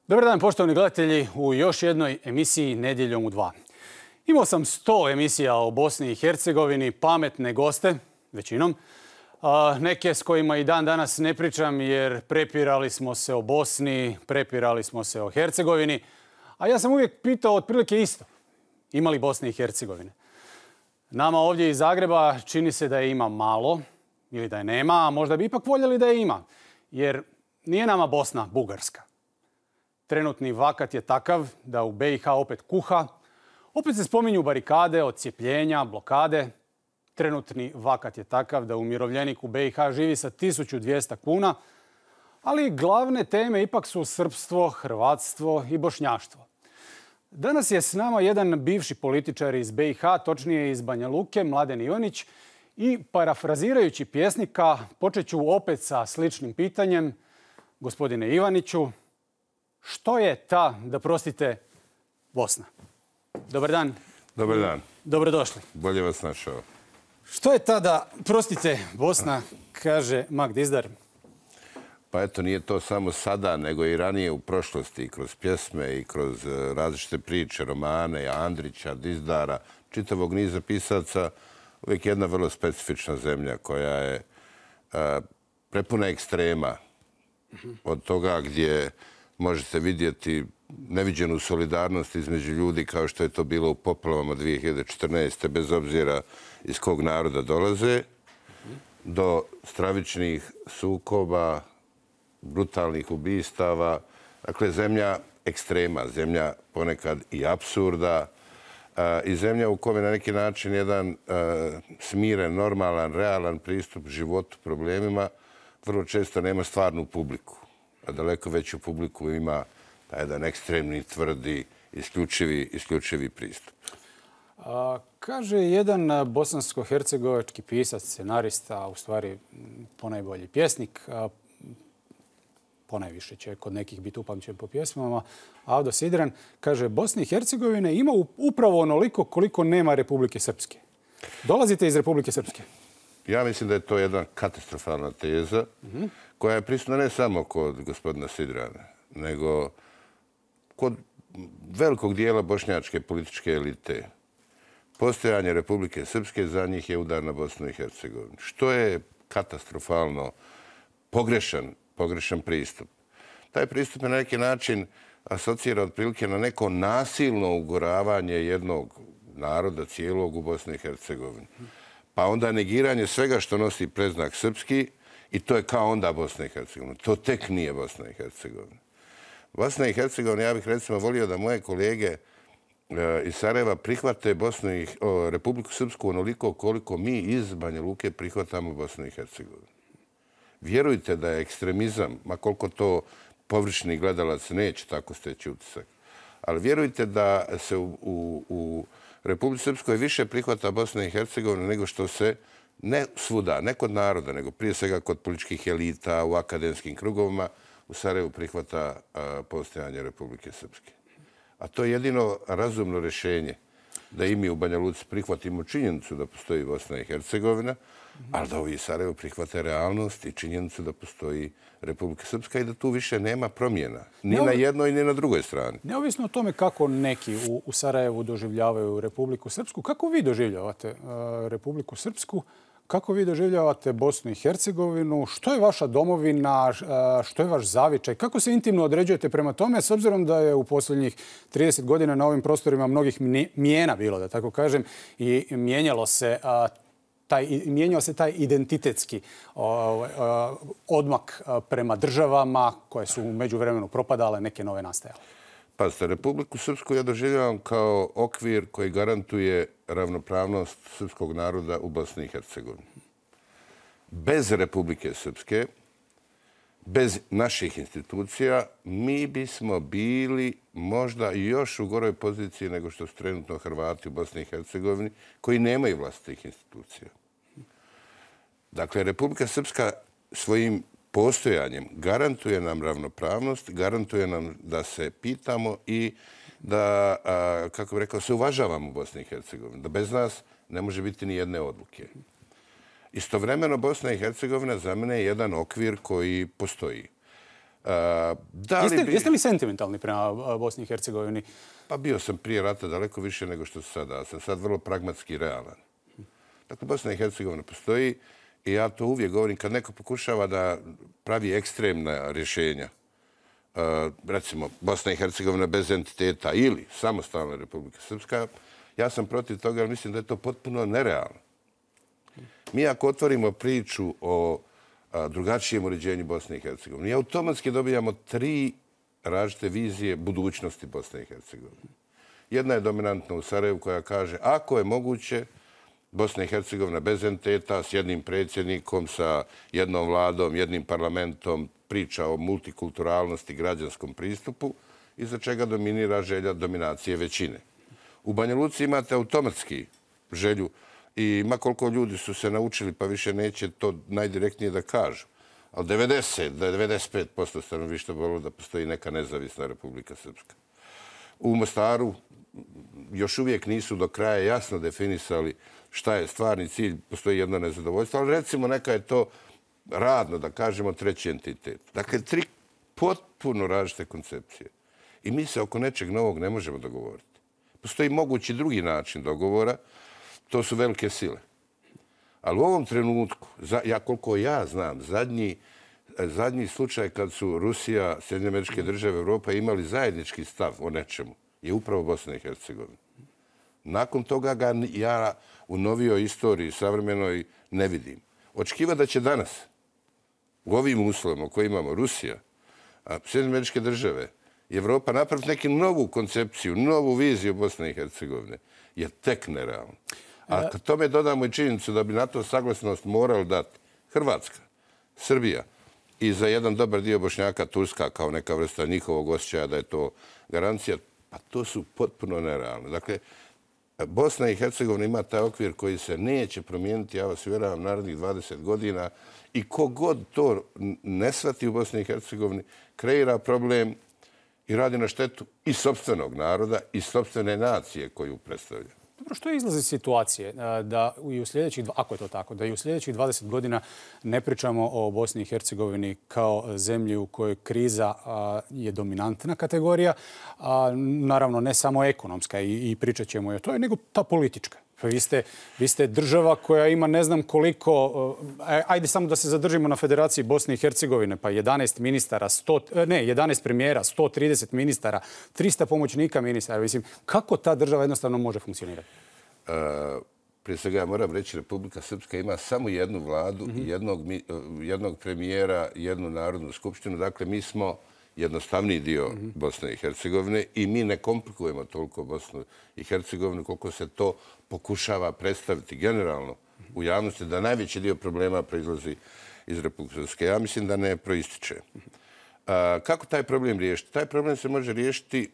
Dobar dan, poštovani gledatelji, u još jednoj emisiji Nedjeljom u 2. Imao sam 100 emisija o Bosni i Hercegovini, pametne goste, većinom. Neke s kojima i dan danas ne pričam jer prepirali smo se o Bosni, prepirali smo se o Hercegovini. A ja sam uvijek pitao otprilike isto. Ima li Bosne i Hercegovine? Nama ovdje iz Zagreba čini se da je ima malo ili da je nema, a možda bi ipak voljeli da je ima. Jer nije nama Bosna Bugarska. Trenutni vakat je takav da u BiH opet kuha. Opet se spominju barikade, odcijepljenja, blokade. Trenutni vakat je takav da umirovljenik u BiH živi sa 1200 kuna. Ali glavne teme ipak su srpstvo, hrvatstvo i bošnjaštvo. Danas je s nama jedan bivši političar iz BiH, točnije iz Banja Luke, Mladen Ivanić. I parafrazirajući pjesnika, počet ću opet sa sličnim pitanjem. Gospodine Ivaniću, što je ta, da prostite, Bosna? Dobar dan. Dobar dan. Dobrodošli. Bolje vas našao. Što je ta, da prostite, Bosna, kaže Mag Dizdar? Pa eto, nije to samo sada, nego i ranije u prošlosti, kroz pjesme i kroz različite priče, romane, Andrića, Dizdara, čitavog niza pisaca, uvijek jedna vrlo specifična zemlja koja je prepuna ekstrema. Od toga gdje možete vidjeti neviđenu solidarnost između ljudi kao što je to bilo u poplavama 2014. bez obzira iz kog naroda dolaze, do stravičnih sukoba, brutalnih ubistava. Dakle, zemlja ekstrema, zemlja ponekad i apsurda i zemlja u kome na neki način jedan smiren, normalan, realan pristup životu, problemima vrlo često nema stvarnu publiku. A daleko veću publiku ima jedan ekstremni, tvrdi, isključivi pristup. Kaže jedan bosansko-hercegovački pisac, scenarista, a u stvari ponajbolji pjesnik, ponajviše će kod nekih biti upamćen po pjesmama, Avdo Sidran, kaže Bosna i Hercegovina ima upravo onoliko koliko nema Republike Srpske. Dolazite iz Republike Srpske? Ja mislim da je to jedna katastrofalna teza koja je prisutna ne samo kod gospodina Sidrana, nego kod velikog dijela bošnjačke političke elite. Postojanje Republike Srpske za njih je udar na Bosnu i Hercegovinu. Što je katastrofalno pogrešan pristup. Taj pristup na neki način asocira otprilike na neko nasilno ugoravanje jednog naroda cijelog u Bosni i Hercegovini. Pa onda negiranje svega što nosi predznak srpski i to je kao onda Bosna i Hercegovina. To tek nije Bosna i Hercegovina. Bosna i Hercegovina, ja bih recimo volio da moje kolege iz Sarajeva prihvate Republiku Srpsku onoliko koliko mi iz Banja Luke prihvatamo Bosnu i Hercegovinu. Vjerujte da je ekstremizam, ma koliko to površni gledalac neće tako steći utisak, ali vjerujte da se u Republici Srpskoj više prihvata Bosna i Hercegovina nego što se ne svuda, ne kod naroda, nego prije svega kod političkih elita, u akademskim krugovima, u Sarajevu prihvata postojanje Republike Srpske. A to je jedino razumno rješenje, da i mi u Banja Luci prihvatimo činjenicu da postoji Bosna i Hercegovina, ali da ovi iz Sarajevu prihvate realnost i činjenicu da postoji Republika Srpska i da tu više nema promjena. Ni na jednoj, ni na drugoj strani. Neovisno o tome kako neki u Sarajevu doživljavaju Republiku Srpsku, kako vi doživljavate Republiku Srpsku? Kako vi doživljavate Bosnu i Hercegovinu? Što je vaša domovina? Što je vaš zavičaj? Kako se intimno određujete prema tome, s obzirom da je u posljednjih 30 godina na ovim prostorima mnogih mijena bilo, da tako kažem, i mijenjao se taj identitetski odmak prema državama koje su u međuvremenu propadale, neke nove nastajale? Pazite, Republiku Srpsku ja doživljavam kao okvir koji garantuje ravnopravnost srpskog naroda u Bosni i Hercegovini. Bez Republike Srpske, bez naših institucija, mi bismo bili možda još u goroj poziciji nego što su trenutno Hrvati u Bosni i Hercegovini, koji nemaju vlastitih institucija. Dakle, Republika Srpska svojim postojanjem garantuje nam ravnopravnost, garantuje nam da se pitamo i da, kako bih rekao, se uvažavamo u Bosni i Hercegovini. Da bez nas ne može biti ni jedne odluke. Istovremeno, Bosna i Hercegovina za mene je jedan okvir koji postoji. Jeste li sentimentalni prema Bosni i Hercegovini? Pa bio sam prije rata daleko više nego što sam sada. Sam sad vrlo pragmatski i realan. Dakle, Bosna i Hercegovina postoji i ja to uvijek govorim kad neko pokušava da pravi ekstremna rješenja. Recimo, Bosna i Hercegovina bez entiteta ili samostalna Republika Srpska, ja sam protiv toga, jer mislim da je to potpuno nerealno. Mi ako otvorimo priču o drugačijem uređenju Bosne i Hercegovine, automatski dobijamo 3 različite vizije budućnosti Bosne i Hercegovine. Jedna je dominantna u Sarajevu koja kaže ako je moguće Bosna i Hercegovina bez entiteta, s jednim predsjednikom, sa jednom vladom, jednim parlamentom, priča o multikulturalnosti, građanskom pristupu, iza čega dominira želja dominacije većine. U Banja Luci imate automatski želju i ma koliko ljudi su se naučili, pa više neće to najdirektnije da kažu. Ali 95% stanovništva volilo da postoji neka nezavisna Republika Srpska. U Mostaru još uvijek nisu do kraja jasno definisali šta je stvarni cilj, postoji jedno nezadovoljstvo, ali recimo neka je to radno, da kažemo, 3. entitet. Dakle, 3 potpuno različite koncepcije. I mi se oko nečeg novog ne možemo dogovoriti. Postoji mogući drugi način dogovora, to su velike sile. Ali u ovom trenutku, koliko ja znam, zadnji slučaj kad su Rusija, Sjedinjene Američke Države, Europa imali zajednički stav o nečemu, je upravo Bosna i Hercegovina. Nakon toga ga ja u novijoj istoriji savremenoj ne vidim. Očekiva da će danas, u ovim uslovima u kojima imamo Rusija, Sjedinjene Američke Države i Evropa napraviti neku novu koncepciju, novu viziju Bosne i Hercegovine, je tek nerealno. A kad tome dodamo i činjenicu da bi na to saglasnost morali dati Hrvatska, Srbija i za jedan dobar dio Bošnjaka Turska kao neka vrsta njihovog osjećaja da je to garancija, pa to su potpuno nerealne. Dakle, Bosna i Hercegovina ima taj okvir koji se neće promijeniti, ja vas uvjeravam, narednih 20 godina i kogod to ne shvati u Bosni i Hercegovini, kreira problem i radi na štetu i sopstvenog naroda i sopstvene nacije koju predstavlja. Dobro, što je izlaz iz situacije da i u sljedećih, ako je to tako, da i u sljedećih 20 godina ne pričamo o Bosni i Hercegovini kao zemlji u kojoj kriza je dominantna kategorija, naravno ne samo ekonomska i pričat ćemo i o toj, nego ta politička. Vi ste država koja ima ne znam koliko, ajde samo da se zadržimo na Federaciji Bosne i Hercegovine, pa 11 ministara, 11 premijera, 130 ministara, 300 pomoćnika ministara. Mislim, kako ta država jednostavno može funkcionirati? Prije svega ja moram reći, Republika Srpska ima samo jednu vladu, jednog premijera, jednu narodnu skupštinu. Dakle, mi smo jednostavniji dio Bosne i Hercegovine i mi ne komplikujemo toliko Bosnu i Hercegovinu koliko se to pokušava predstaviti generalno u javnosti, da najveći dio problema proizlazi iz Republike Srpske. Ja mislim da ne proističe. Kako taj problem riješiti? Taj problem se može riješiti,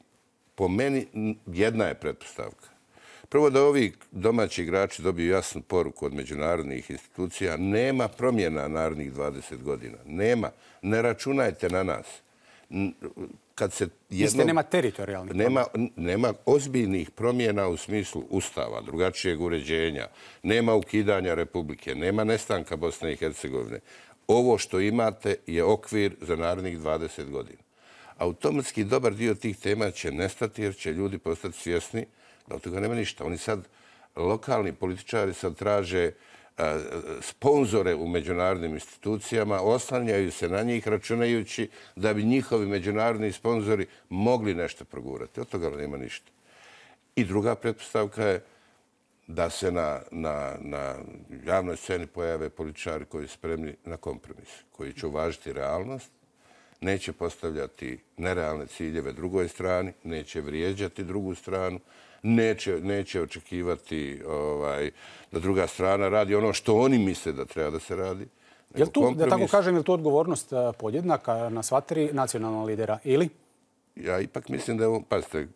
po meni, jedna je pretpostavka. Prvo da ovi domaći igrači dobiju jasnu poruku od međunarodnih institucija. Nema promjena narednih 20 godina. Nema. Ne računajte na nas. Nema teritorijalnih promjena. Nema ozbiljnih promjena u smislu ustava, drugačijeg uređenja, nema ukidanja Republike, nema nestanka Bosne i Hercegovine. Ovo što imate je okvir za narednih 20 godina. Automatski dobar dio tih tema će nestati jer će ljudi postati svjesni da od toga nema ništa. Oni sad, lokalni političari sad traže sponzore u međunarodnim institucijama, oslanjaju se na njih računajući da bi njihovi međunarodni sponzori mogli nešto progurati. Od toga nema ništa. I druga pretpostavka je da se na javnoj sceni pojave političari koji su spremni na kompromis, koji će uvažiti realnost, neće postavljati nerealne ciljeve drugoj strani, neće vrijeđati drugu stranu, neće očekivati da druga strana radi ono što oni misle da treba da se radi. Da tako kažem, je li to odgovornost podjednaka na sva 3 nacionalna lidera ili? Ja ipak mislim da je ovo, pazite,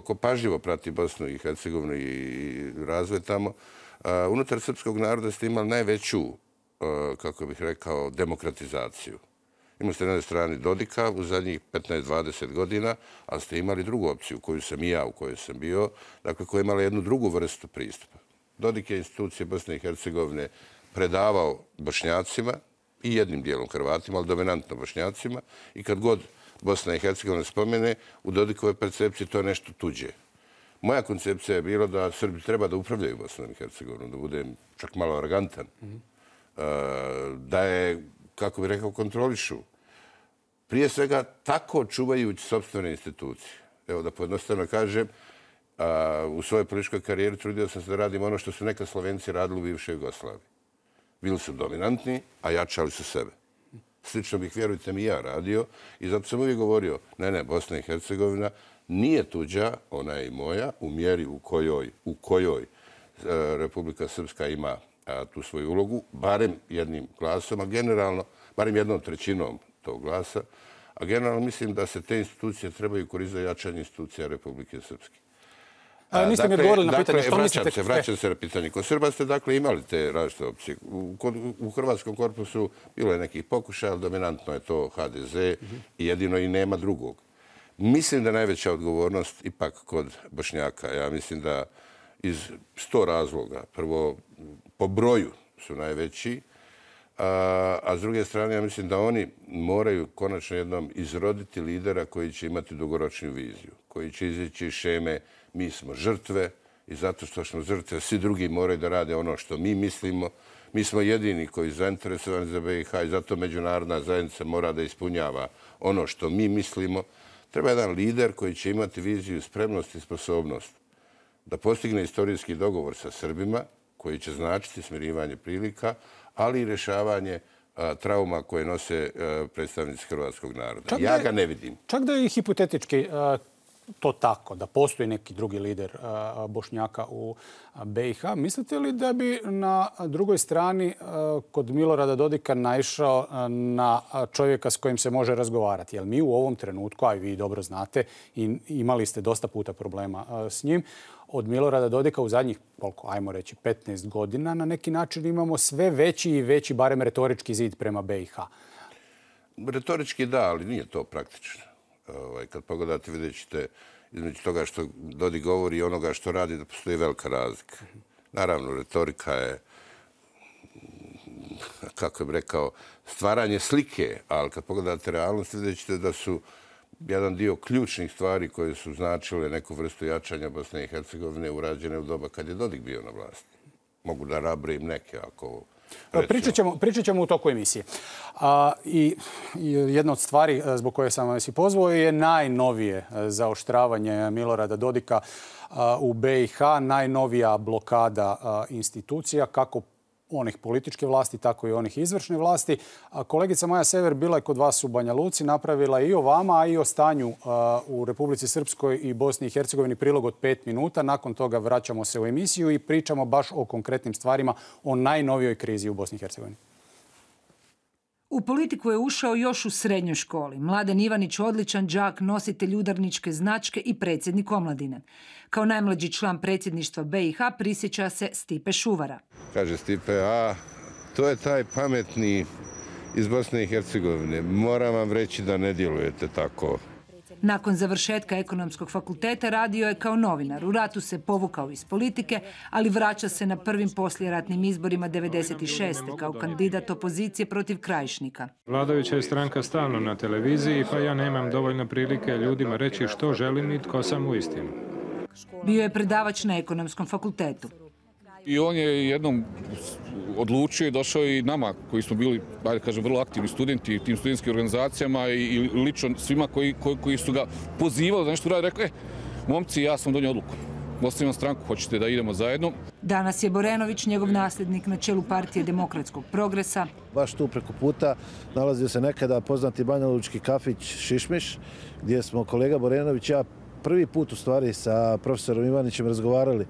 ko pažljivo prati Bosnu i Hercegovinu i razvoj tamo, unutar srpskog naroda ste imali najveću, kako bih rekao, demokratizaciju. Imali ste na jednoj strani Dodika u zadnjih 15-20 godina, ali ste imali drugu opciju koju sam i ja, u kojoj sam bio, dakle koja je imala jednu drugu vrstu pristupa. Dodik je institucije Bosne i Hercegovine predavao Bošnjacima i jednim dijelom Hrvatima, ali dominantno Bošnjacima. I kad god Bosna i Hercegovina spomene, u Dodikovoj percepciji to je nešto tuđe. Moja koncepcija je bila da Srbi treba da upravljaju Bosnom i Hercegovinom, da budem čak malo arogantan, da je, kako bih rekao, kontrolišu. Prije svega tako čuvajući sopstvene institucije. Evo da pojednostavno kažem, u svojoj političkoj karijeri trudio sam se da radim ono što su nekad Slovenci radili u bivšoj Jugoslaviji. Bili su dominantni, a jačali su sebe. Slično bih, vjerujte mi, ja radio i zato sam uvijek govorio, ne, Bosna i Hercegovina nije tuđa, ona je i moja, u mjeri u kojoj Republika Srpska ima tu svoju ulogu, barem jednim glasom, a generalno, barem 1/3 tog glasa, a generalno mislim da se te institucije trebaju koristiti za jačanje institucija Republike Srpske. Niste mi odgovorili na pitanje što mislite... Vraćam se na pitanje. Kod Srba ste dakle imali te različite opcije. U Hrvatskom korpusu bilo je nekih pokušaja, ali dominantno je to HDZ i jedino i nema drugog. Mislim da je najveća odgovornost ipak kod Bošnjaka. Ja mislim da iz 100 razloga, prvo po broju su najveći, a s druge strane ja mislim da oni moraju konačno jednom izroditi lidera koji će imati dugoročnu viziju, koji će izaći iz šeme mi smo žrtve i zato što smo žrtve svi drugi moraju da rade ono što mi mislimo. Mi smo jedini koji su zainteresovani za BiH i zato međunarodna zajednica mora da ispunjava ono što mi mislimo. Treba jedan lider koji će imati viziju, spremnost i sposobnost da postigne istorijski dogovor sa Srbima koji će značiti smirivanje prilika, ali i rješavanje trauma koje nose predstavnici hrvatskog naroda. Ja ga ne vidim. Čak da je i hipotetički to tako, da postoji neki drugi lider Bošnjaka u BiH, mislite li da bi na drugoj strani kod Milorada Dodika naišao na čovjeka s kojim se može razgovarati? Jer mi u ovom trenutku, a i vi dobro znate, i imali ste dosta puta problema s njim, od Milorada Dodika u zadnjih, koliko, ajmo reći, 15 godina, na neki način imamo sve veći i veći, barem retorički zid prema BiH. Retorički da, ali nije to praktično. Kad pogledate, vidjet ćete između toga što Dodik govori i onoga što radi da postoji velika razlika. Naravno, retorika je, kako bih rekao, stvaranje slike, ali kad pogledate realnost, vidjet ćete da su jedan dio ključnih stvari koje su značile neku vrstu jačanja Bosne i Hercegovine urađene u doba kad je Dodik bio na vlasti. Mogu da rabrojim neke ako... Pričat ćemo u toku emisije. I jedna od stvari zbog koje sam vas i pozvao je najnovije zaoštravanje Milorada Dodika u BiH, najnovija blokada institucija, kako onih političke vlasti, tako i onih izvršne vlasti. Kolegica Maja Sever bila je kod vas u Banja Luci, napravila i o vama, a i o stanju u Republici Srpskoj i Bosni i Hercegovini prilog od 5 minuta. Nakon toga vraćamo se u emisiju i pričamo baš o konkretnim stvarima, o najnovijoj krizi u Bosni i Hercegovini. U politiku je ušao još u srednjoj školi. Mladen Ivanić, odličan đak, nositelj udarničke značke i predsjednik omladine. Kao najmlađi član predsjedništva BiH prisjeća se Stipe Šuvara. Kaže Stipe, to je taj pametni iz Bosne i Hercegovine. Moram vam reći da ne djelujete tako. Nakon završetka ekonomskog fakulteta radio je kao novinar. U ratu se povukao iz politike, ali vraća se na prvim poslijeratnim izborima 1996. kao kandidat opozicije protiv Krajišnika. Vladajuća je stranka stalno na televiziji, pa ja nemam dovoljno prilike ljudima reći što želim i tko sam uistinu. Bio je predavač na ekonomskom fakultetu. I on je jednom odlučio i došao i nama koji smo bili, ajde kažem, vrlo aktivni studenti u tim studentskim organizacijama i lično svima koji su ga pozivali da nešto radi, rekao, momci, ja sam donio odluku. Ostavim stranku, hoćete da idemo zajedno. Danas je Borenović, njegov nasljednik na čelu partije Demokratskog progresa. Baš tu preko puta nalazio se nekada poznati banjalučki kafić Šišmiš, gdje smo kolega Borenović i ja prvi put u stvari sa profesorom Ivanićem razgovarali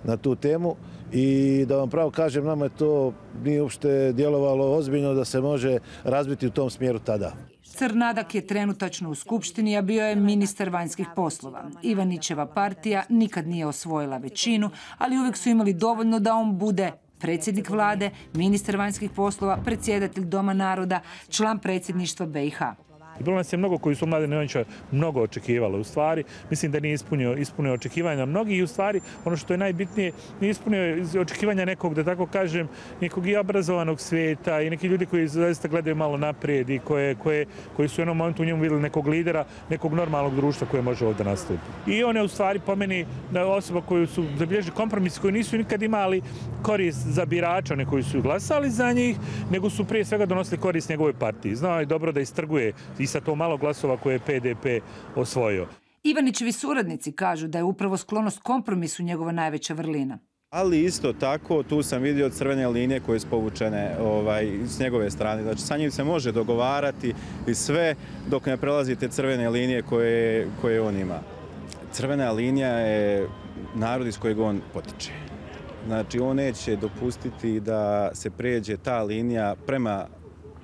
na tu temu i da vam pravo kažem, nama je to nije uopšte djelovalo ozbiljno da se može razbiti u tom smjeru tada. Crnadak je trenutačno u Skupštini, a bio je ministar vanjskih poslova. Ivanićeva partija nikad nije osvojila većinu, ali uvijek su imali dovoljno da on bude predsjednik vlade, ministar vanjskih poslova, predsjedatelj Doma naroda, član predsjedništva BiH. I bilo nas je mnogo koji su Mladena Ivanića mnogo očekivali. U stvari, mislim da nije ispunio očekivanja mnogi i u stvari, ono što je najbitnije, nije ispunio očekivanja nekog, da tako kažem, nekog i obrazovanog svijeta i neki ljudi koji zaista gledaju malo naprijed i koji su u jednom momentu u njemu vidjeli nekog lidera, nekog normalnog društva koje može ovdje nastupiti. I on je u stvari po meni osoba koju su zabilježili kompromisi koji nisu nikad imali korist za birača, one koji su glasali za njih, nego su prije svega donosili korist njegovoj partiji. Znao je dobro da istrguje i sa to malo glasova koje je PDP osvojio. Ivanićevi suradnici kažu da je upravo sklonost kompromisu njegova najveća vrlina. Ali isto tako, tu sam vidio crvene linije koje su povučene s njegove strane. Znači, sa njim se može dogovarati i sve dok ne prelazite crvene linije koje on ima. Crvena linija je narod iz kojeg on potiče. Znači, on neće dopustiti da se pređe ta linija prema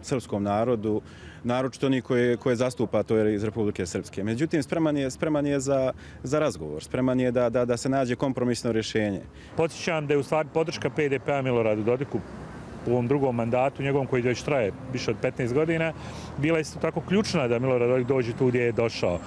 srpskom narodu, naročito oni koje zastupa, to je iz Republike Srpske. Međutim, spreman je za razgovor, spreman je da se nađe kompromisno rješenje. Podsjećam da je u stvari podrška PDP-a Miloradu Dodiku u ovom drugom mandatu, njegovom koji već traje više od 15 godina, bila isto tako ključna da Milorad Dodik dođe tu gdje je došao.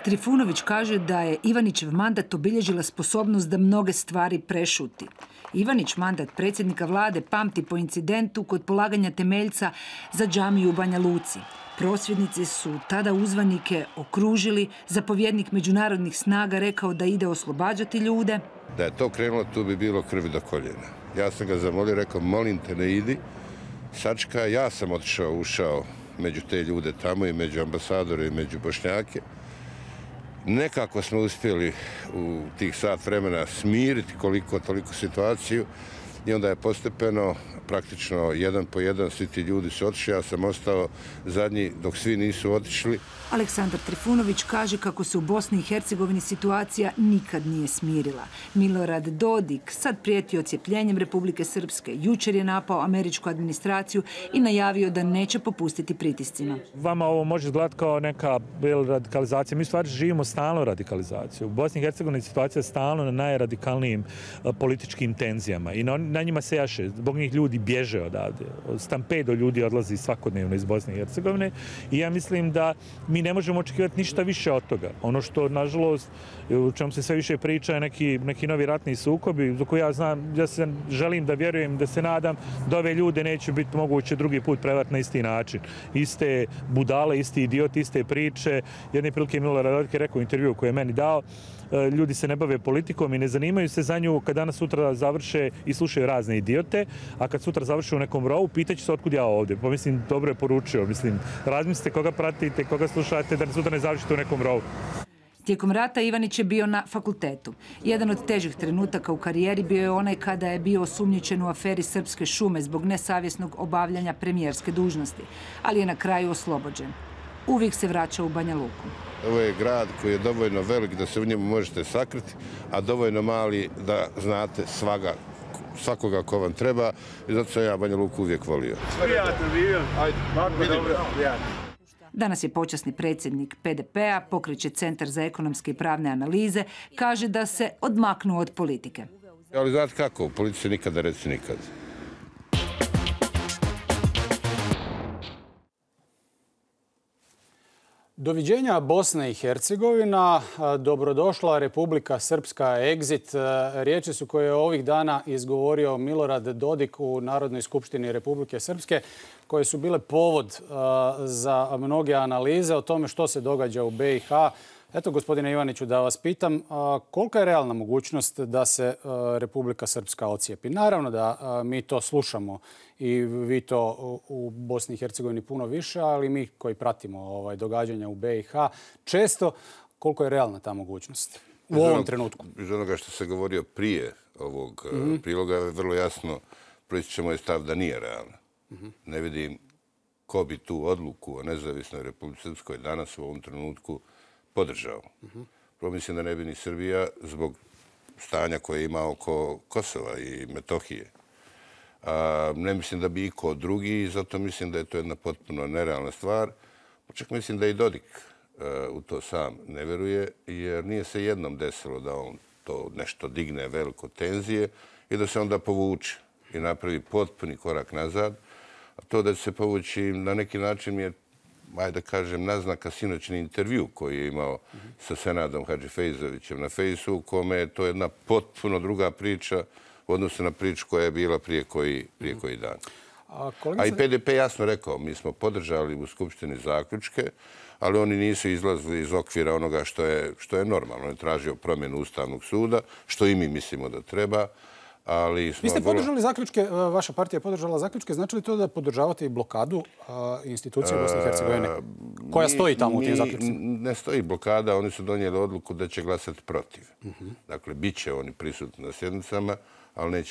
Trifunović kaže da je Ivanićev mandat obilježila sposobnost da mnoge stvari prešuti. Ivanić mandat predsjednika vlade pamti po incidentu kod polaganja temeljca za džamiju u Banja Luci. Prosvjednici su tada uzvanike okružili, zapovjednik međunarodnih snaga rekao da ide oslobađati ljude. Da je to krenulo, tu bi bilo krvi do koljena. Ja sam ga zamolio, rekao, molim te ne idi, sačka, ja sam ušao među te ljude tamo i među ambasadore i među Bošnjake. Nekako smo uspjeli u tih sat vremena smiriti toliko situaciju i onda je postepeno, praktično jedan po jedan, svi ti ljudi su otišli, ja sam ostao zadnji dok svi nisu otišli. Aleksandar Trifunović kaže kako se u Bosni i Hercegovini situacija nikad nije smirila. Milorad Dodik sad prijeti odcjepljenjem Republike Srpske. Jučer je napao američku administraciju i najavio da neće popustiti pritiscima. Vama ovo može izgledati kao neka radikalizacija. Mi u stvari živimo stalno radikalizaciju. U Bosni i Hercegovini situacija je stalno na najradikalnijim političkim tenzijama i na njima se jaše. Zbog njih ljudi bježe odavde. Stampedo ljudi odlazi svakodnevno iz Bosne i Hercegovine i ja mislim da mi ne možemo očekivati ništa više od toga. Ono što, nažalost, u čemu se sve više priča je neki novi ratni sukobi, za koje ja se želim da vjerujem, da se nadam da ove ljude neće biti moguće drugi put prevariti na isti način. Iste budale, isti idioti, iste priče. Jedne prilike Milorad Dodik je rekao u intervju koji je meni dao, ljudi se ne bave politikom i ne zanimaju se za nju kad danas sutra završe i slušaju razne idiote, a kad sutra završe u nekom rovu, pitaće se otkud ja ovdje. Pa mislim, dobro je poručio. Mislim, razmislite koga pratite, koga slušate, da sutra ne završite u nekom rovu. Tijekom rata Ivanić je bio na fakultetu. Jedan od težih trenutaka u karijeri bio je onaj kada je bio osumnjičen u aferi Srpske šume zbog nesavjesnog obavljanja premijerske dužnosti, ali je na kraju oslobođen. Uvijek se vraća u Banja Luku. Ovo je grad koji je dovoljno velik da se u njemu možete sakriti, a dovoljno mali da znate svakoga ko vam treba i zato sam ja Banja Luku uvijek volio. Prijatno živio. Ajde, dobro, prijatno. Danas je počasni predsjednik PDP-a, pokreće Centar za ekonomske i pravne analize, kaže da se odmaknuo od politike. Ali znate kako, u politici nikada reci nikad. Doviđenja Bosna i Hercegovina, dobrodošla Republika Srpska, exit. Riječi su koje je ovih dana izgovorio Milorad Dodik u Narodnoj skupštini Republike Srpske, koje su bile povod za mnoge analize o tome što se događa u BiH. Eto, gospodine Ivaniću, da vas pitam, kolika je realna mogućnost da se Republika Srpska ocijepi? Naravno da mi to slušamo i vi to u Bosni i Hercegovini puno više, ali mi koji pratimo događanja u BiH, često koliko je realna ta mogućnost u ovom trenutku? Iz onoga što se govorio prije ovog priloga je vrlo jasno proističe moj stav da nije realna. Ne vidim ko bi tu odluku o nezavisnoj Republici Srpskoj danas u ovom trenutku podržao. Prvo mislim da ne bi ni Srbija zbog stanja koje ima oko Kosova i Metohije. Ne mislim da bi iko drugi i zato mislim da je to jedna potpuno nerealna stvar. Čak mislim da i Dodik u to sam ne veruje jer nije se jednom desilo da on to nešto digne veliko tenzije i da se onda povuče i napravi potpuni korak nazad. A to da će se povući na neki način mi je ajde da kažem, naznaka sinoćni intervju koji je imao sa Senadom Hadžifejzovićem na Fejsu, u kome je to jedna potpuno druga priča u odnosu na priču koja je bila prije koji dan. A i PDP jasno rekao, mi smo podržali u Skupštini zaključke, ali oni nisu izlazili iz okvira onoga što je normalno. On je tražio promjenu Ustavnog suda, što i mi mislimo da treba. Vi ste podržali zaključke, vaša partija je podržala zaključke, znači li to da podržavate i blokadu institucije Bosne i Hercegovine koja stoji tamo u tim zaključcima? Ne stoji blokada, oni su donijeli odluku da će glasati protiv. Dakle, bit će oni prisutni na sjednicama, ali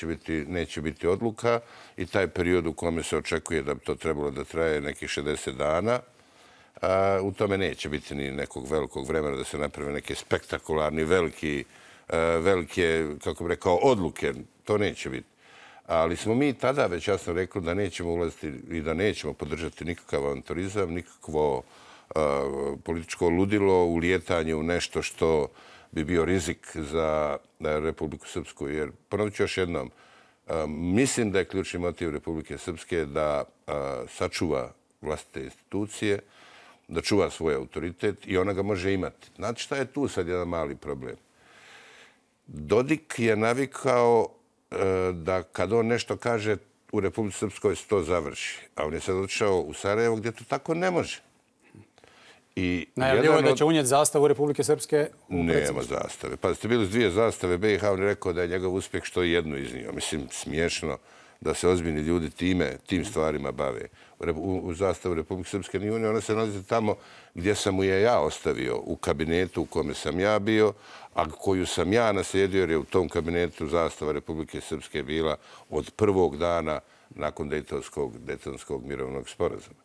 neće biti odluka i taj period u kome se očekuje da bi to trebalo da traje nekih 60 dana, u tome neće biti ni nekog velikog vremena da se naprave neke spektakularni, velike, kako bih rekao, odluke. To neće biti. Ali smo mi tada već jasno rekli da nećemo ulaziti i da nećemo podržati nikakav avanturizam, nikakvo političko ludilo, ulijetanje u nešto što bi bio rizik za Republiku Srpsku. Jer, ponovit ću još jednom, mislim da je ključni motiv Republike Srpske da sačuva vlastite institucije, da čuva svoj autoritet i ona ga može imati. Znate šta je tu sad jedan mali problem? Dodik je navikao da kad on nešto kaže u Republici Srpskoj se to završi. A on je sad otišao u Sarajevo gdje to tako ne može. Najavljivo je da će unijeti zastavu Republike Srpske u Nema zastave. Pa ste bili s 2 zastave BiH, on je rekao da je njegov uspjeh što je jednu iznio. Mislim, smiješno da se ozbiljni ljudi tim stvarima bave. U zastavu Republike Srpske nije unio, ona se nalazi tamo gdje sam mu je ja ostavio, u kabinetu u kome sam ja bio, a koju sam ja naslijedio jer je u tom kabinetu zastava Republike Srpske bila od prvog dana nakon Dejtonskog mirovnog sporazuma.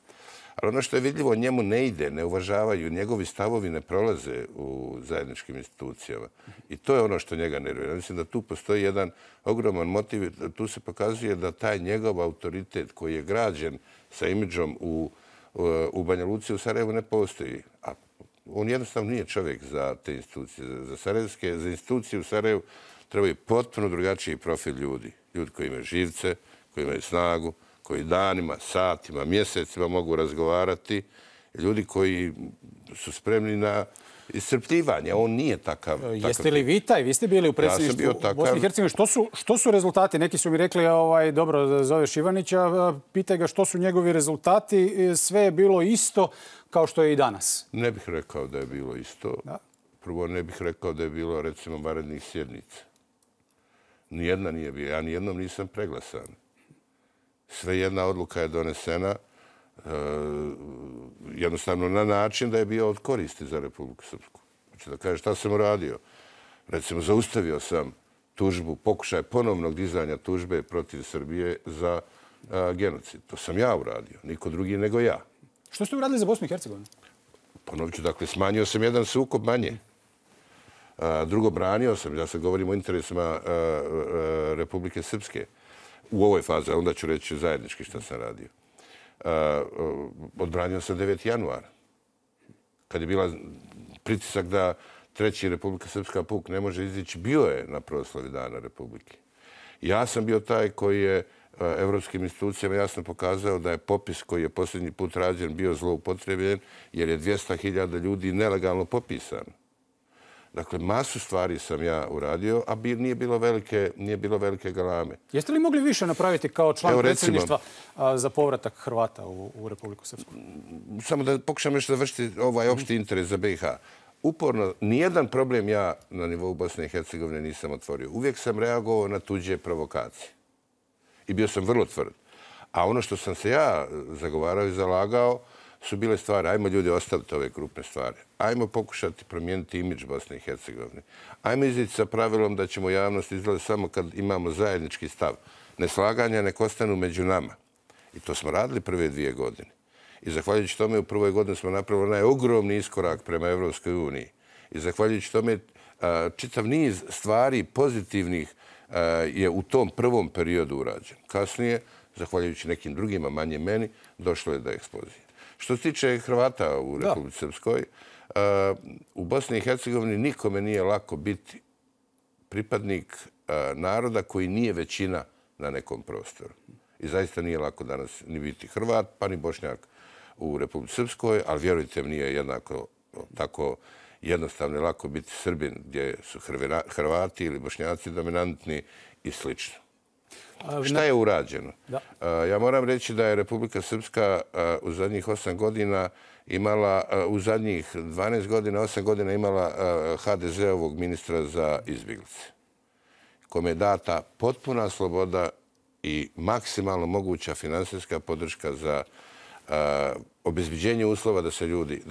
Ali ono što je vidljivo, njemu ne ide, ne uvažavaju, njegovi stavovi ne prolaze u zajedničkim institucijama. I to je ono što njega nervira. Mislim da tu postoji jedan ogroman motiv. Tu se pokazuje da taj njegov autoritet koji je građen sa imidžom u Banja Luci u Sarajevu ne postoji. A on jednostavno nije čovjek za te institucije. Za institucije u Sarajevu trebaju potpuno drugačiji profil ljudi. Ljudi koji imaju živce, koji imaju snagu, koji danima, satima, mjesecima mogu razgovarati. Ljudi koji su spremni na iscrpljivanje. On nije takav. Jeste li vi taj? Vi ste bili u predsjedništvu Bosne i Hercegovine. Što su rezultati? Neki su mi rekli, dobro, zoveš Ivanića, pitaj ga što su njegovi rezultati. Sve je bilo isto kao što je i danas. Ne bih rekao da je bilo isto. Prvo, ne bih rekao da je bilo, recimo, vanrednih sjednica. Nijedna nije bila. Ja nijednom nisam preglasan. Sve jedna odluka je donesena jednostavno na način da je bio od koristi za Republiku Srpsku. Znači da kaže šta sam uradio. Recimo, zaustavio sam tužbu, pokušaj ponovnog dizanja tužbe protiv Srbije za genocid. To sam ja uradio, niko drugi nego ja. Što ste uradili za Bosnu i Hercegovinu? Ponovit ću, dakle, smanjio sam jedan sukob manje. Drugo, branio sam, ja sad govorim o interesima Republike Srpske. U ovoj fazi, a onda ću reći zajednički što sam radio. Odbranio sam 9. januara. Kad je bila pritisak da 3. Republika Srpska puk ne može izići, bio je na proslavi Dana Republike. Ja sam bio taj koji je evropskim institucijama jasno pokazao da je popis koji je posljednji put rađen bio zloupotrebljen jer je 200.000 ljudi nelegalno popisano. Dakle, masu stvari sam ja uradio, a nije bilo velike galame. Jeste li mogli više napraviti kao član predsjedništva za povratak Hrvata u Republiku Srpsku? Samo da pokušam još završiti ovaj opšti interes za BiH. Uporno, nijedan problem ja na nivou Bosne i Hercegovine nisam otvorio. Uvijek sam reagovao na tuđe provokacije. I bio sam vrlo tvrd. A ono što sam se ja zagovarao i zalagao su bile stvari. Ajmo ljudi ostaviti ove krupne stvari. Ajmo pokušati promijeniti imidž Bosne i Hercegovine. Ajmo izići sa pravilom da ćemo javnost izgledati samo kad imamo zajednički stav. Neslaganja nek ostanu među nama. I to smo radili prve 2 godine. I zahvaljujući tome u prvoj godini smo napravili onaj ogromni iskorak prema Evropskoj uniji. I zahvaljujući tome čitav niz stvari pozitivnih je u tom prvom periodu urađen. Kasnije, zahvaljujući nekim drugima, manje meni, došlo je do eksplozije. Što se tiče Hrvata u Republici Srpskoj, u Bosni i Hercegovini nikome nije lako biti pripadnik naroda koji nije većina na nekom prostoru. I zaista nije lako danas ni biti Hrvat, pa ni Bošnjak u Republici Srpskoj, ali vjerujte mi, nije jednako tako jednostavno i lako biti Srbin gdje su Hrvati ili Bošnjaci dominantni i slično. Šta je urađeno? Ja moram reći da je Republika Srpska u zadnjih 8 godina imala, u zadnjih 12 godina, 8 godina imala HDZ-ovog ministra za izbjeglice, kome je data potpuna sloboda i maksimalno moguća finansijska podrška za obezbeđenje uslova da se ljudi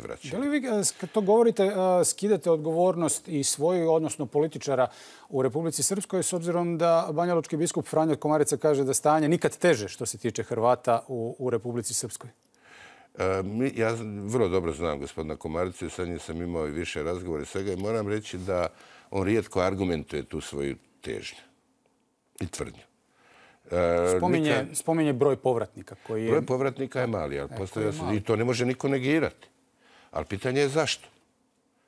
vraćaju. Da li vi, kad to govorite, skidate odgovornost i svoju, odnosno političara u Republici Srpskoj, s obzirom da banjalučki biskup Franjo Komarica kaže da stanje nikad teže što se tiče Hrvata u Republici Srpskoj? Ja vrlo dobro znam gospodina Komaricu i sa njim sam imao i više razgovora i svega i moram reći da on rijetko argumentuje tu svoju težnju i tvrdnju. Spominje broj povratnika koji je... Broj povratnika je mali, ali i to ne može niko negirati. Ali pitanje je zašto?